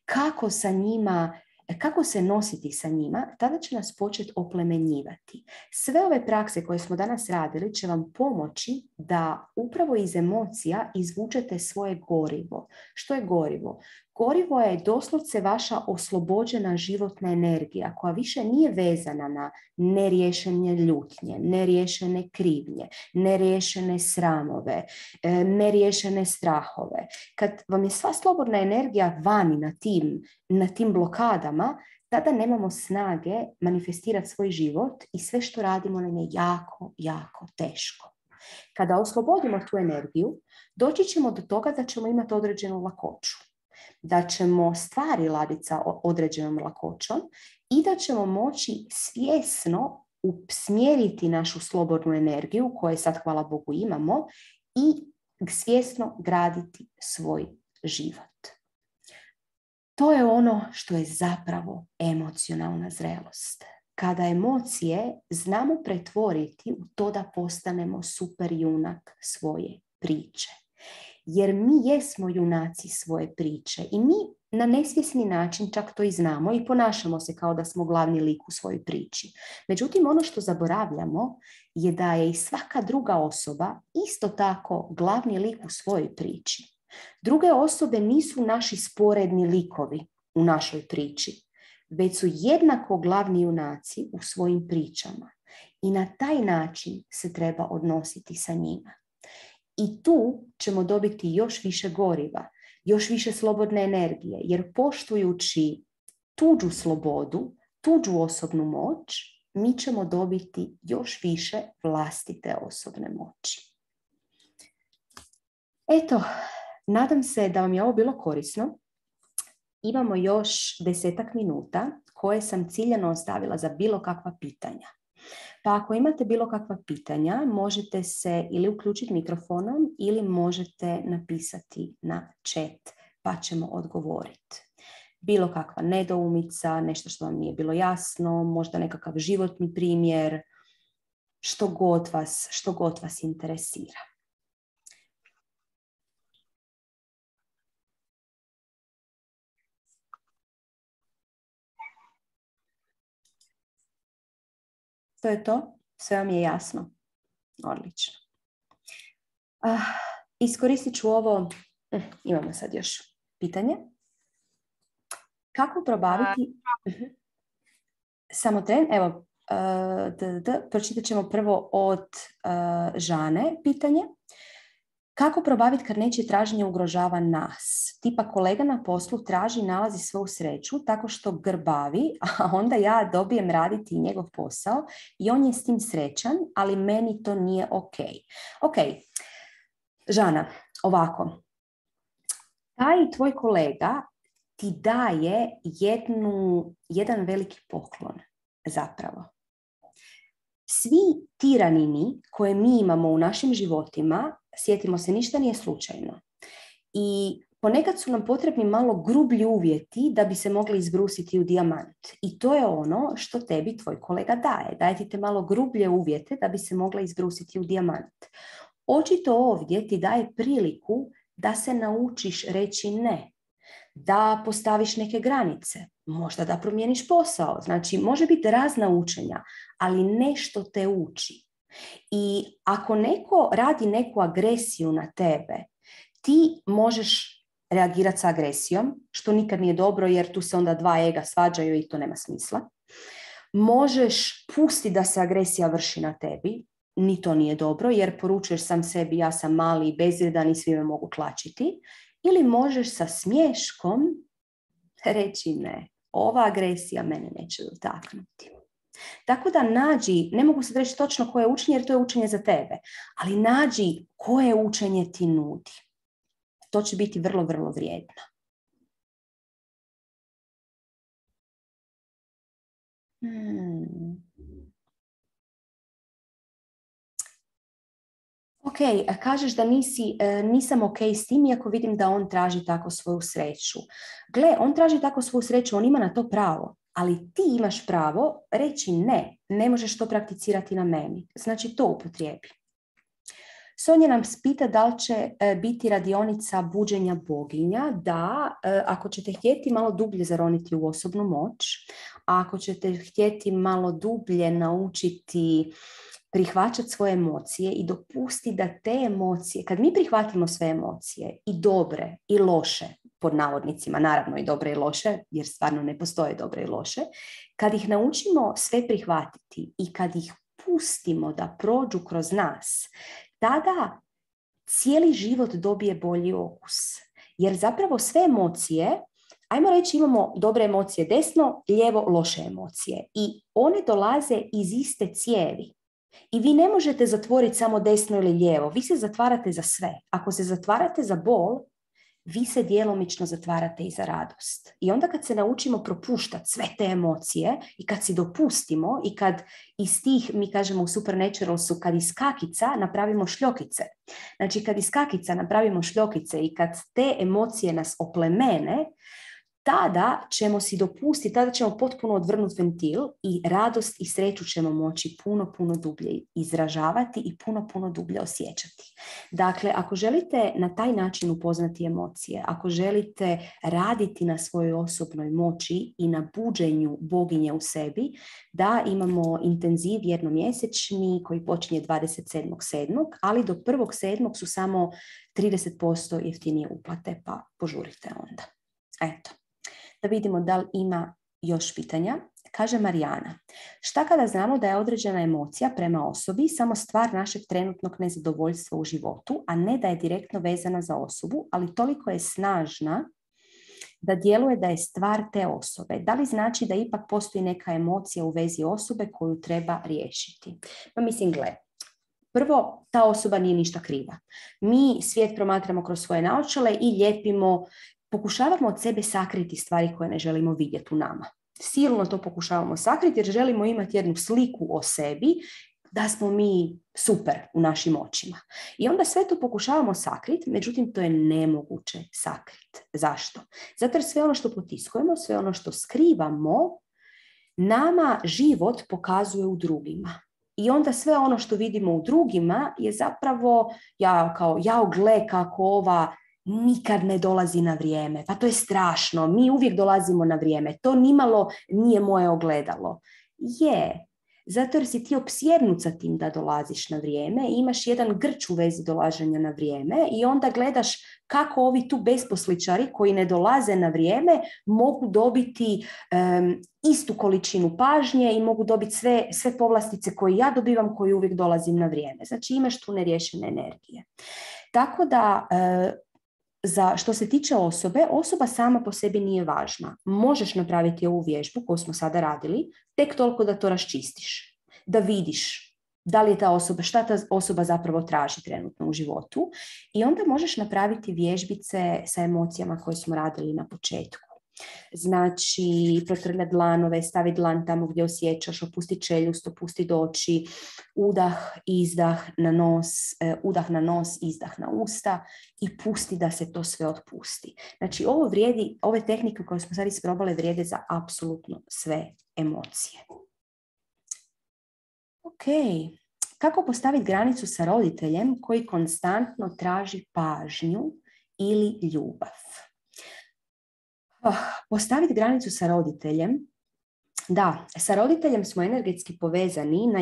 kako se nositi sa njima, tada će nas početi oplemenjivati. Sve ove prakse koje smo danas radili će vam pomoći da upravo iz emocija izvučete svoje gorivo. Što je gorivo? Gorivo je doslovce vaša oslobođena životna energija koja više nije vezana na neriješene ljutnje, neriješene krivnje, neriješene sramove, neriješene strahove. Kad vam je sva slobodna energija vani na tim blokadama, tada nemamo snage manifestirati svoj život i sve što radimo nam je jako, jako teško. Kada oslobodimo tu energiju, doći ćemo do toga da ćemo imati određenu lakoću, da ćemo stvari raditi sa određenom lakoćom i da ćemo moći svjesno usmjeriti našu slobodnu energiju, koju sad, hvala Bogu, imamo, i svjesno graditi svoj život. To je ono što je zapravo emocionalna zrelost. Kada emocije znamo pretvoriti u to da postanemo super junak svoje priče. Jer mi jesmo junaci svoje priče i mi na nesvjesni način čak to i znamo i ponašamo se kao da smo glavni lik u svojoj priči. Međutim, ono što zaboravljamo je da je i svaka druga osoba isto tako glavni lik u svojoj priči. Druge osobe nisu naši sporedni likovi u našoj priči, već su jednako glavni junaci u svojim pričama. I na taj način se treba odnositi sa njima. I tu ćemo dobiti još više goriva, još više slobodne energije, jer poštujući tuđu slobodu, tuđu osobnu moć, mi ćemo dobiti još više vlastite osobne moći. Eto, nadam se da vam je ovo bilo korisno. Imamo još 10 minuta koje sam ciljano ostavila za bilo kakva pitanja. Pa ako imate bilo kakva pitanja, možete se ili uključiti mikrofonom ili možete napisati na chat, pa ćemo odgovoriti. Bilo kakva nedoumica, nešto što vam nije bilo jasno, možda nekakav životni primjer, što god vas interesira. To je to? Sve vam je jasno? Odlično. Iskoristit ću ovo. Imamo sad još pitanje. Kako probaviti... Samo tren. Evo, pročitat ćemo prvo od Žane pitanje. Kako probaviti kad nečije traženje ugrožava nas? Tipa kolega na poslu traži i nalazi svoju sreću tako što grbavi, a onda ja dobijem raditi njegov posao i on je s tim srećan, ali meni to nije ok. Ok, Žana, ovako. Taj tvoj kolega ti daje jedan veliki poklon, zapravo. Svi tiranini koje mi imamo u našim životima, sjetimo se, ništa nije slučajno. I ponekad su nam potrebni malo grublji uvjeti da bi se mogli izbrusiti u dijamant. I to je ono što tebi tvoj kolega daje. Daje ti te malo grublje uvjete da bi se mogla izbrusiti u dijamant. Očito ovdje ti daje priliku da se naučiš reći ne. Da postaviš neke granice, možda da promijeniš posao. Znači, može biti razna učenja, ali nešto te uči. I ako neko radi neku agresiju na tebe, ti možeš reagirati sa agresijom, što nikad nije dobro jer tu se onda dva ega svađaju i to nema smisla. Možeš pustiti da se agresija vrši na tebi, ni to nije dobro jer poručuješ sam sebi ja sam mali i bezvrijedan i svi me mogu tlačiti. Ili možeš sa smiješkom reći ne. ova agresija mene neće dotaknuti. Tako da nađi, ne mogu se reći točno koje je učenje, jer to je učenje za tebe, ali nađi koje učenje ti nudi. To će biti vrlo, vrlo vrijedno. Ok, kažeš da nisam ok s tim, iako vidim da on traži tako svoju sreću. Gle, on traži tako svoju sreću, on ima na to pravo, ali ti imaš pravo reći ne možeš to prakticirati na meni. Znači to upotrijebi. Sonja nam pita da li će biti radionica buđenja boginja. Da, ako ćete htjeti malo dublje zaroniti u osobnu moć, a ako ćete htjeti malo dublje naučiti prihvaćati svoje emocije i dopustiti da te emocije, kad mi prihvatimo sve emocije, i dobre i loše, pod navodnicima, naravno i dobre i loše, jer stvarno ne postoje dobre i loše, kad ih naučimo sve prihvatiti i kad ih pustimo da prođu kroz nas, tada cijeli život dobije bolji okus. Jer zapravo sve emocije, ajmo reći imamo dobre emocije desno, lijevo loše emocije i one dolaze iz iste cijevi. I vi ne možete zatvoriti samo desno ili lijevo, vi se zatvarate za sve. Ako se zatvarate za bol, vi se djelomično zatvarate i za radost. I onda kad se naučimo propuštati sve te emocije i kad si dopustimo i kad iz tih, mi kažemo u Supernaturalsu, kad iz kakica napravimo šljokice. Znači kad iz kakica napravimo šljokice i kad te emocije nas oplemene, tada ćemo si dopustiti, tada ćemo potpuno odvrnuti ventil i radost i sreću ćemo moći puno, puno dublje izražavati i puno, puno dublje osjećati. Dakle, ako želite na taj način upoznati emocije, ako želite raditi na svojoj osobnoj moći i na buđenju boginje u sebi, da imamo intenziv jednomjesečni koji počinje 27.7., ali do 1.7. su samo 30% jeftinije uplate, pa požurite onda. Eto. Da vidimo da li ima još pitanja. Kaže Marijana, šta kada znamo da je određena emocija prema osobi samo stvar našeg trenutnog nezadovoljstva u životu, a ne da je direktno vezana za osobu, ali toliko je snažna da djeluje da je stvar te osobe. Da li znači da ipak postoji neka emocija u vezi osobe koju treba riješiti? Pa mislim, gle, prvo, ta osoba nije ništa kriva. Mi svijet promatramo kroz svoje naočale i lijepimo, pokušavamo od sebe sakriti stvari koje ne želimo vidjeti u nama. Silno to pokušavamo sakriti jer želimo imati jednu sliku o sebi da smo mi super u našim očima. I onda sve to pokušavamo sakriti, međutim to je nemoguće sakriti. Zašto? Zato jer sve ono što potiskujemo, sve ono što skrivamo, nama život pokazuje u drugima. I onda sve ono što vidimo u drugima je zapravo, gle kako ova nikad ne dolazi na vrijeme. Pa to je strašno. Mi uvijek dolazimo na vrijeme. To nimalo nije moje ogledalo. Je. Zato jer si ti opsjednut sa tim da dolaziš na vrijeme i imaš jedan grč u vezi dolaženja na vrijeme i onda gledaš kako ovi tu besposličari koji ne dolaze na vrijeme mogu dobiti istu količinu pažnje i mogu dobiti sve povlastice koje ja dobivam koji uvijek dolazim na vrijeme. Znači imaš tu neriješene energije. Tako da što se tiče osobe, osoba sama po sebi nije važna. Možeš napraviti ovu vježbu koju smo sada radili, tek toliko da to raščistiš, da vidiš da li je ta osoba, šta ta osoba zapravo traži trenutno u životu i onda možeš napraviti vježbice sa emocijama koje smo radili na početku. Znači, protrljati dlanove, staviti dlan tamo gdje osjećaš, opusti čeljust, opusti oči, udah, izdah na nos, udah na nos, izdah na usta i pusti da se to sve otpusti. Znači, ovo vrijedi, ove tehnike koje smo sad isprobale vrijede za apsolutno sve emocije. Ok, kako postaviti granicu sa roditeljem koji konstantno traži pažnju ili ljubav? Postaviti granicu sa roditeljem. Da, sa roditeljem smo energetski povezani na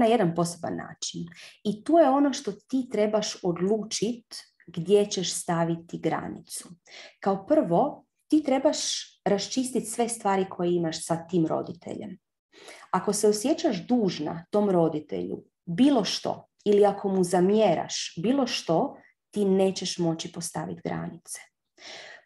jedan poseban način. I tu je ono što ti trebaš odlučiti gdje ćeš staviti granicu. Kao prvo, ti trebaš raščistiti sve stvari koje imaš sa tim roditeljem. Ako se osjećaš dužna tom roditelju bilo što ili ako mu zamjeraš bilo što, ti nećeš moći postaviti granice.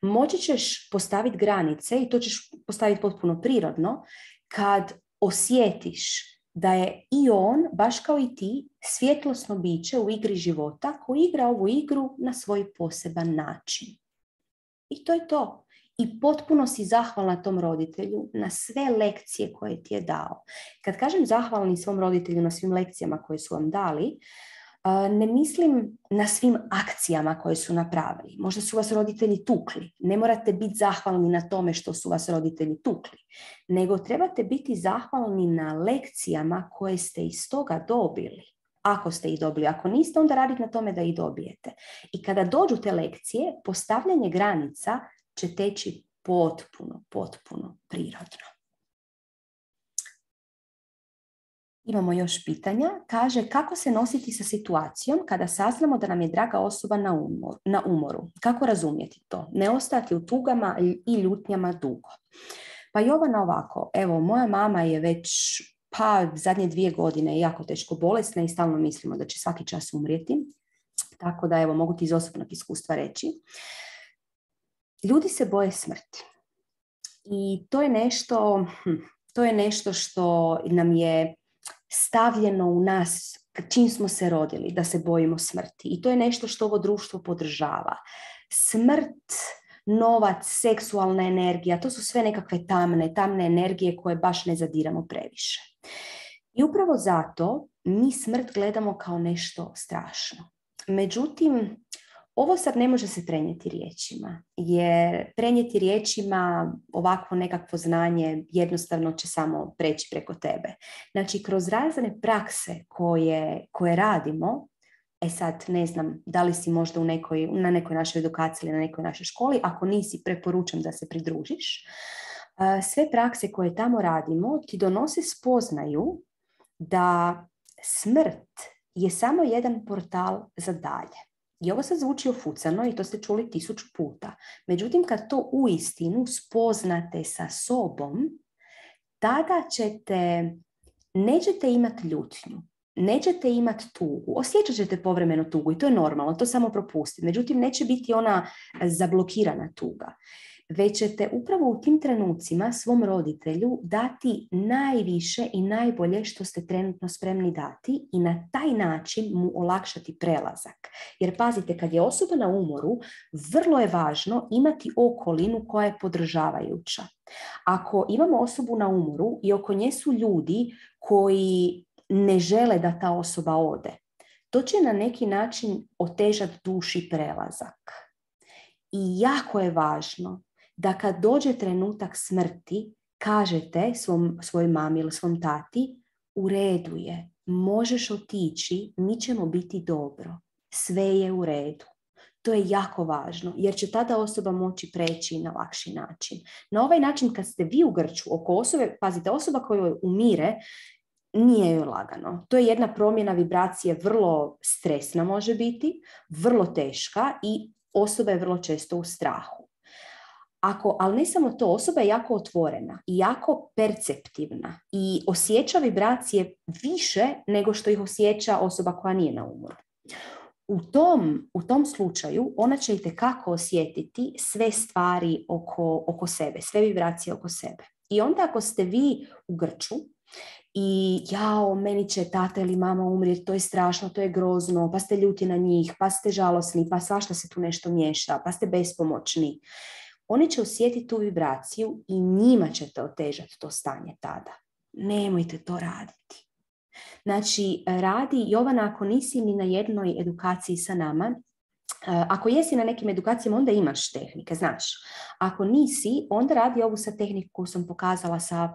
Moći ćeš postaviti granice i to ćeš postaviti potpuno prirodno kad osjetiš da je i on, baš kao i ti, svjetlosno biće u igri života koji igra ovu igru na svoj poseban način. I to je to. I potpuno si zahvalna tom roditelju na sve lekcije koje ti je dao. Kad kažem zahvalni svom roditelju na svim lekcijama koje su vam dali, ne mislim na svim akcijama koje su napravili. Možda su vas roditelji tukli. Ne morate biti zahvalni na tome što su vas roditelji tukli. Nego trebate biti zahvalni na lekcijama koje ste iz toga dobili. Ako ste ih dobili. Ako niste, onda radite na tome da ih dobijete. I kada dođu te lekcije, postavljanje granica će teći potpuno prirodno. Imamo još pitanja. Kaže, kako se nositi sa situacijom kada saznamo da nam je draga osoba na umoru? Kako razumjeti to? Ne ostati u tugama i ljutnjama dugo. Pa Jovana ovako, evo, moja mama je već zadnje 2 godine jako teško bolesna i stalno mislimo da će svaki čas umrijeti. Tako da, evo, mogu ti iz osobnog iskustva reći. Ljudi se boje smrti. I to je nešto što nam je stavljeno u nas čim smo se rodili, da se bojimo smrti. I to je nešto što ovo društvo podržava. Smrt, novac, seksualna energija, to su sve nekakve tamne energije koje baš ne zadiramo previše. I upravo zato mi smrt gledamo kao nešto strašno. Međutim, ovo sad ne može se prenijeti riječima, jer prenijeti riječima ovakvo nekakvo znanje jednostavno će samo preći preko tebe. Znači, kroz razne prakse koje radimo, sad ne znam da li si možda na nekoj našoj edukaciji ili na nekoj našoj školi, ako nisi, preporučam da se pridružiš. Sve prakse koje tamo radimo ti donose spoznaju da smrt je samo jedan portal za dalje. I ovo sad zvuči ofucano i to ste čuli 1000 puta. Međutim, kad to uistinu spoznate sa sobom, tada nećete imati ljutnju, nećete imati tugu. Osjećat ćete povremeno tugu i to je normalno, to samo propustiti. Međutim, neće biti ona zablokirana tuga. Već ćete upravo u tim trenucima svom roditelju dati najviše i najbolje što ste trenutno spremni dati i na taj način mu olakšati prelazak. Jer pazite, kad je osoba na umoru, vrlo je važno imati okolinu koja je podržavajuća. Ako imamo osobu na umoru i oko nje su ljudi koji ne žele da ta osoba ode, to će na neki način otežati duši prelazak. I jako je važno da kad dođe trenutak smrti, kažete svojoj mami ili svom tati, u redu je, možeš otići, mi ćemo biti dobro, sve je u redu. To je jako važno, jer će tada osoba moći preći na lakši način. Na ovaj način, kad ste vi u grču oko osobe, pazite, osoba koja umire, nije joj lagano. To je jedna promjena vibracije, vrlo stresna može biti, vrlo teška i osoba je vrlo često u strahu. Ali ne samo to, osoba je jako otvorena i jako perceptivna i osjeća vibracije više nego što ih osjeća osoba koja nije na umoru. U tom slučaju ona će itekako osjetiti sve stvari oko sebe, sve vibracije oko sebe. I onda ako ste vi u grču i meni će tata ili mama umrijeti, to je strašno, to je grozno, pa ste ljuti na njih, pa ste žalosni, pa svašta se tu nešto miješa, pa ste bespomoćni. Oni će osjetiti tu vibraciju i njima ćete otežati to stanje tada. Nemojte to raditi. Znači, radi, Jovana, ako nisi ni na jednoj edukaciji sa nama, ako jesi na nekim edukacijama, onda imaš tehnike, znaš. Ako nisi, onda radi ovu sa tehniku koju sam pokazala sa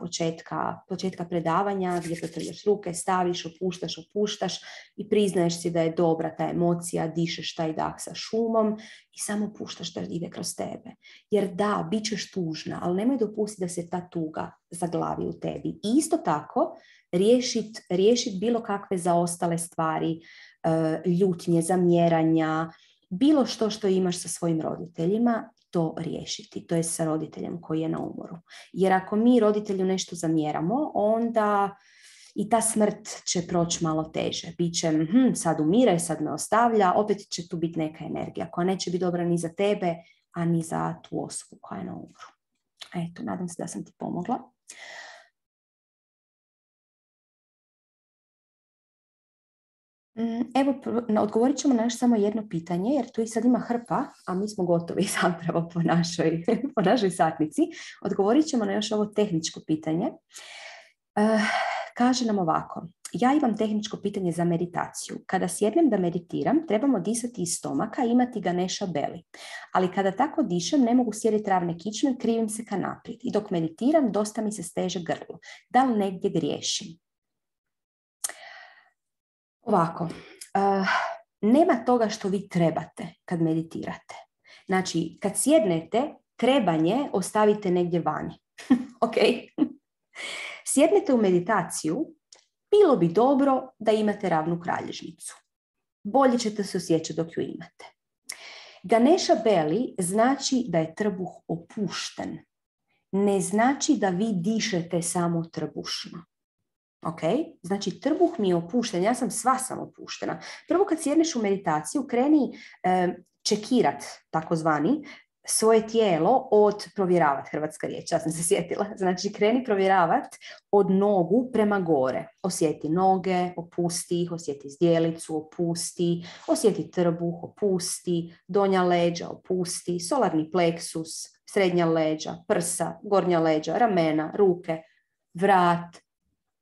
početka predavanja, gdje potrljaš ruke, staviš, opuštaš i priznaješ si da je dobra ta emocija, dišeš taj dah sa šumom i samo puštaš da ide kroz tebe. Jer da, bit ćeš tužna, ali nemoj dopustiti da se ta tuga zaglavi u tebi. I isto tako, riješit bilo kakve zaostale stvari, ljutnje, zamjeranja, bilo što imaš sa svojim roditeljima, to riješiti. To je sa roditeljem koji je na umoru. Jer ako mi roditelju nešto zamjeramo, onda i ta smrt će proći malo teže. Biće, sad umire, sad me ostavlja, opet će tu biti neka energija koja neće biti dobra ni za tebe, a ni za tu osobu koja je na umoru. Eto, nadam se da sam ti pomogla. Evo, odgovorit ćemo na još samo jedno pitanje, jer tu i sad ima hrpa, a mi smo gotovi zapravo po našoj satnici. Odgovorit ćemo na još ovo tehničko pitanje. Kaže nam ovako. Ja imam tehničko pitanje za meditaciju. Kada sjednem da meditiram, trebamo disati iz stomaka i imati Ganesha belly. Ali kada tako dišem, ne mogu sjediti ravne kičme, krivim se ka naprijed. I dok meditiram, dosta mi se steže grlo. Da li negdje griješim? Ovako, nema toga što vi trebate kad meditirate. Znači, kad sjednete, trebanje ostavite negdje vani. Ok? Sjednete u meditaciju, bilo bi dobro da imate ravnu kralježnicu. Bolje ćete se osjećati dok ju imate. Ganesha belly znači da je trbuh opušten. Ne znači da vi dišete samo trbušno. Ok? Znači, trbuh mi je opušten. Ja sam sva sam opuštena. Prvo kad sjedneš u meditaciju, kreni čekirat, takozvani, svoje tijelo od provjeravat, hrvatska riječ, ja sam se sjetila. Znači, kreni provjeravat od nogu prema gore. Osjeti noge, opusti ih, osjeti zdjelicu, opusti, osjeti trbuh, opusti, donja leđa, opusti, solarni pleksus, srednja leđa, prsa, gornja leđa, ramena, ruke, vrat,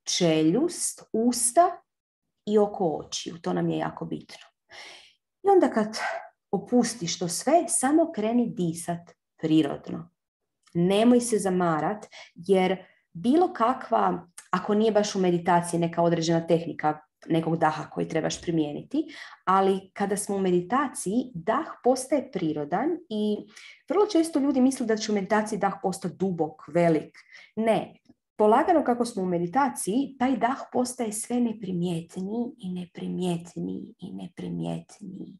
čeljust, usta i oko očiju. To nam je jako bitno. I onda kad opustiš to sve, samo kreni disat prirodno. Nemoj se zamarat, jer bilo kakva, ako nije baš u meditaciji neka određena tehnika nekog daha koji trebaš primijeniti, ali kada smo u meditaciji, dah postaje prirodan i vrlo često ljudi misle da će u meditaciji dah postati dubok, velik. Ne. Polagano kako smo u meditaciji, taj dah postaje sve neprimjetniji i neprimjetniji i neprimjetniji.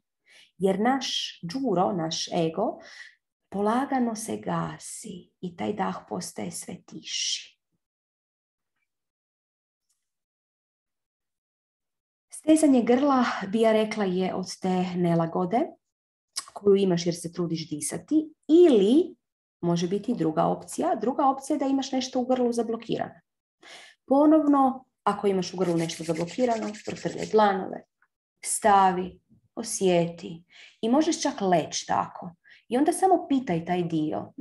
Jer naš đuro, naš ego, polagano se gasi i taj dah postaje sve tiši. Stezanje grla, bi ja rekla, je od te nelagode koju imaš jer se trudiš disati, ili može biti druga opcija. Druga opcija je da imaš nešto u grlu zablokirano. Ponovno, ako imaš u grlu nešto zablokirano, protrljaj dlanove, stavi, osjeti i možeš čak leći tako. I onda samo pitaj taj dio,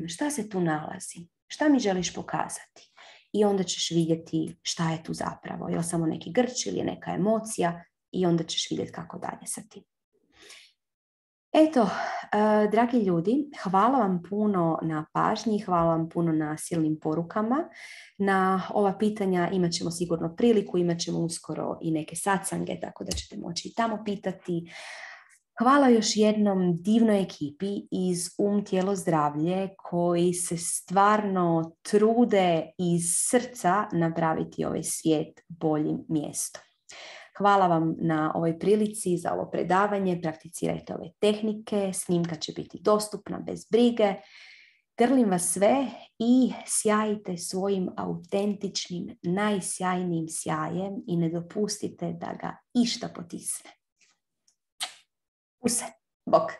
šta se tu nalazi? Šta mi želiš pokazati? I onda ćeš vidjeti šta je tu zapravo. Je li samo neki grč ili je neka emocija i onda ćeš vidjeti kako dalje sa tim. Eto, dragi ljudi, hvala vam puno na pažnji, hvala vam puno na silnim porukama. Na ova pitanja imat ćemo sigurno priliku, imat ćemo uskoro i neke satsange, tako da ćete moći i tamo pitati. Hvala još jednom divnoj ekipi iz Tijelo, zdravlje koji se stvarno trude iz srca napraviti ovaj svijet boljim mjestom. Hvala vam na ovoj prilici za ovo predavanje. Prakticirajte ove tehnike. Snimka će biti dostupna bez brige. Grlim vas sve i sjajite svojim autentičnim, najsjajnijim sjajem i ne dopustite da ga išta potisne. Use, bok.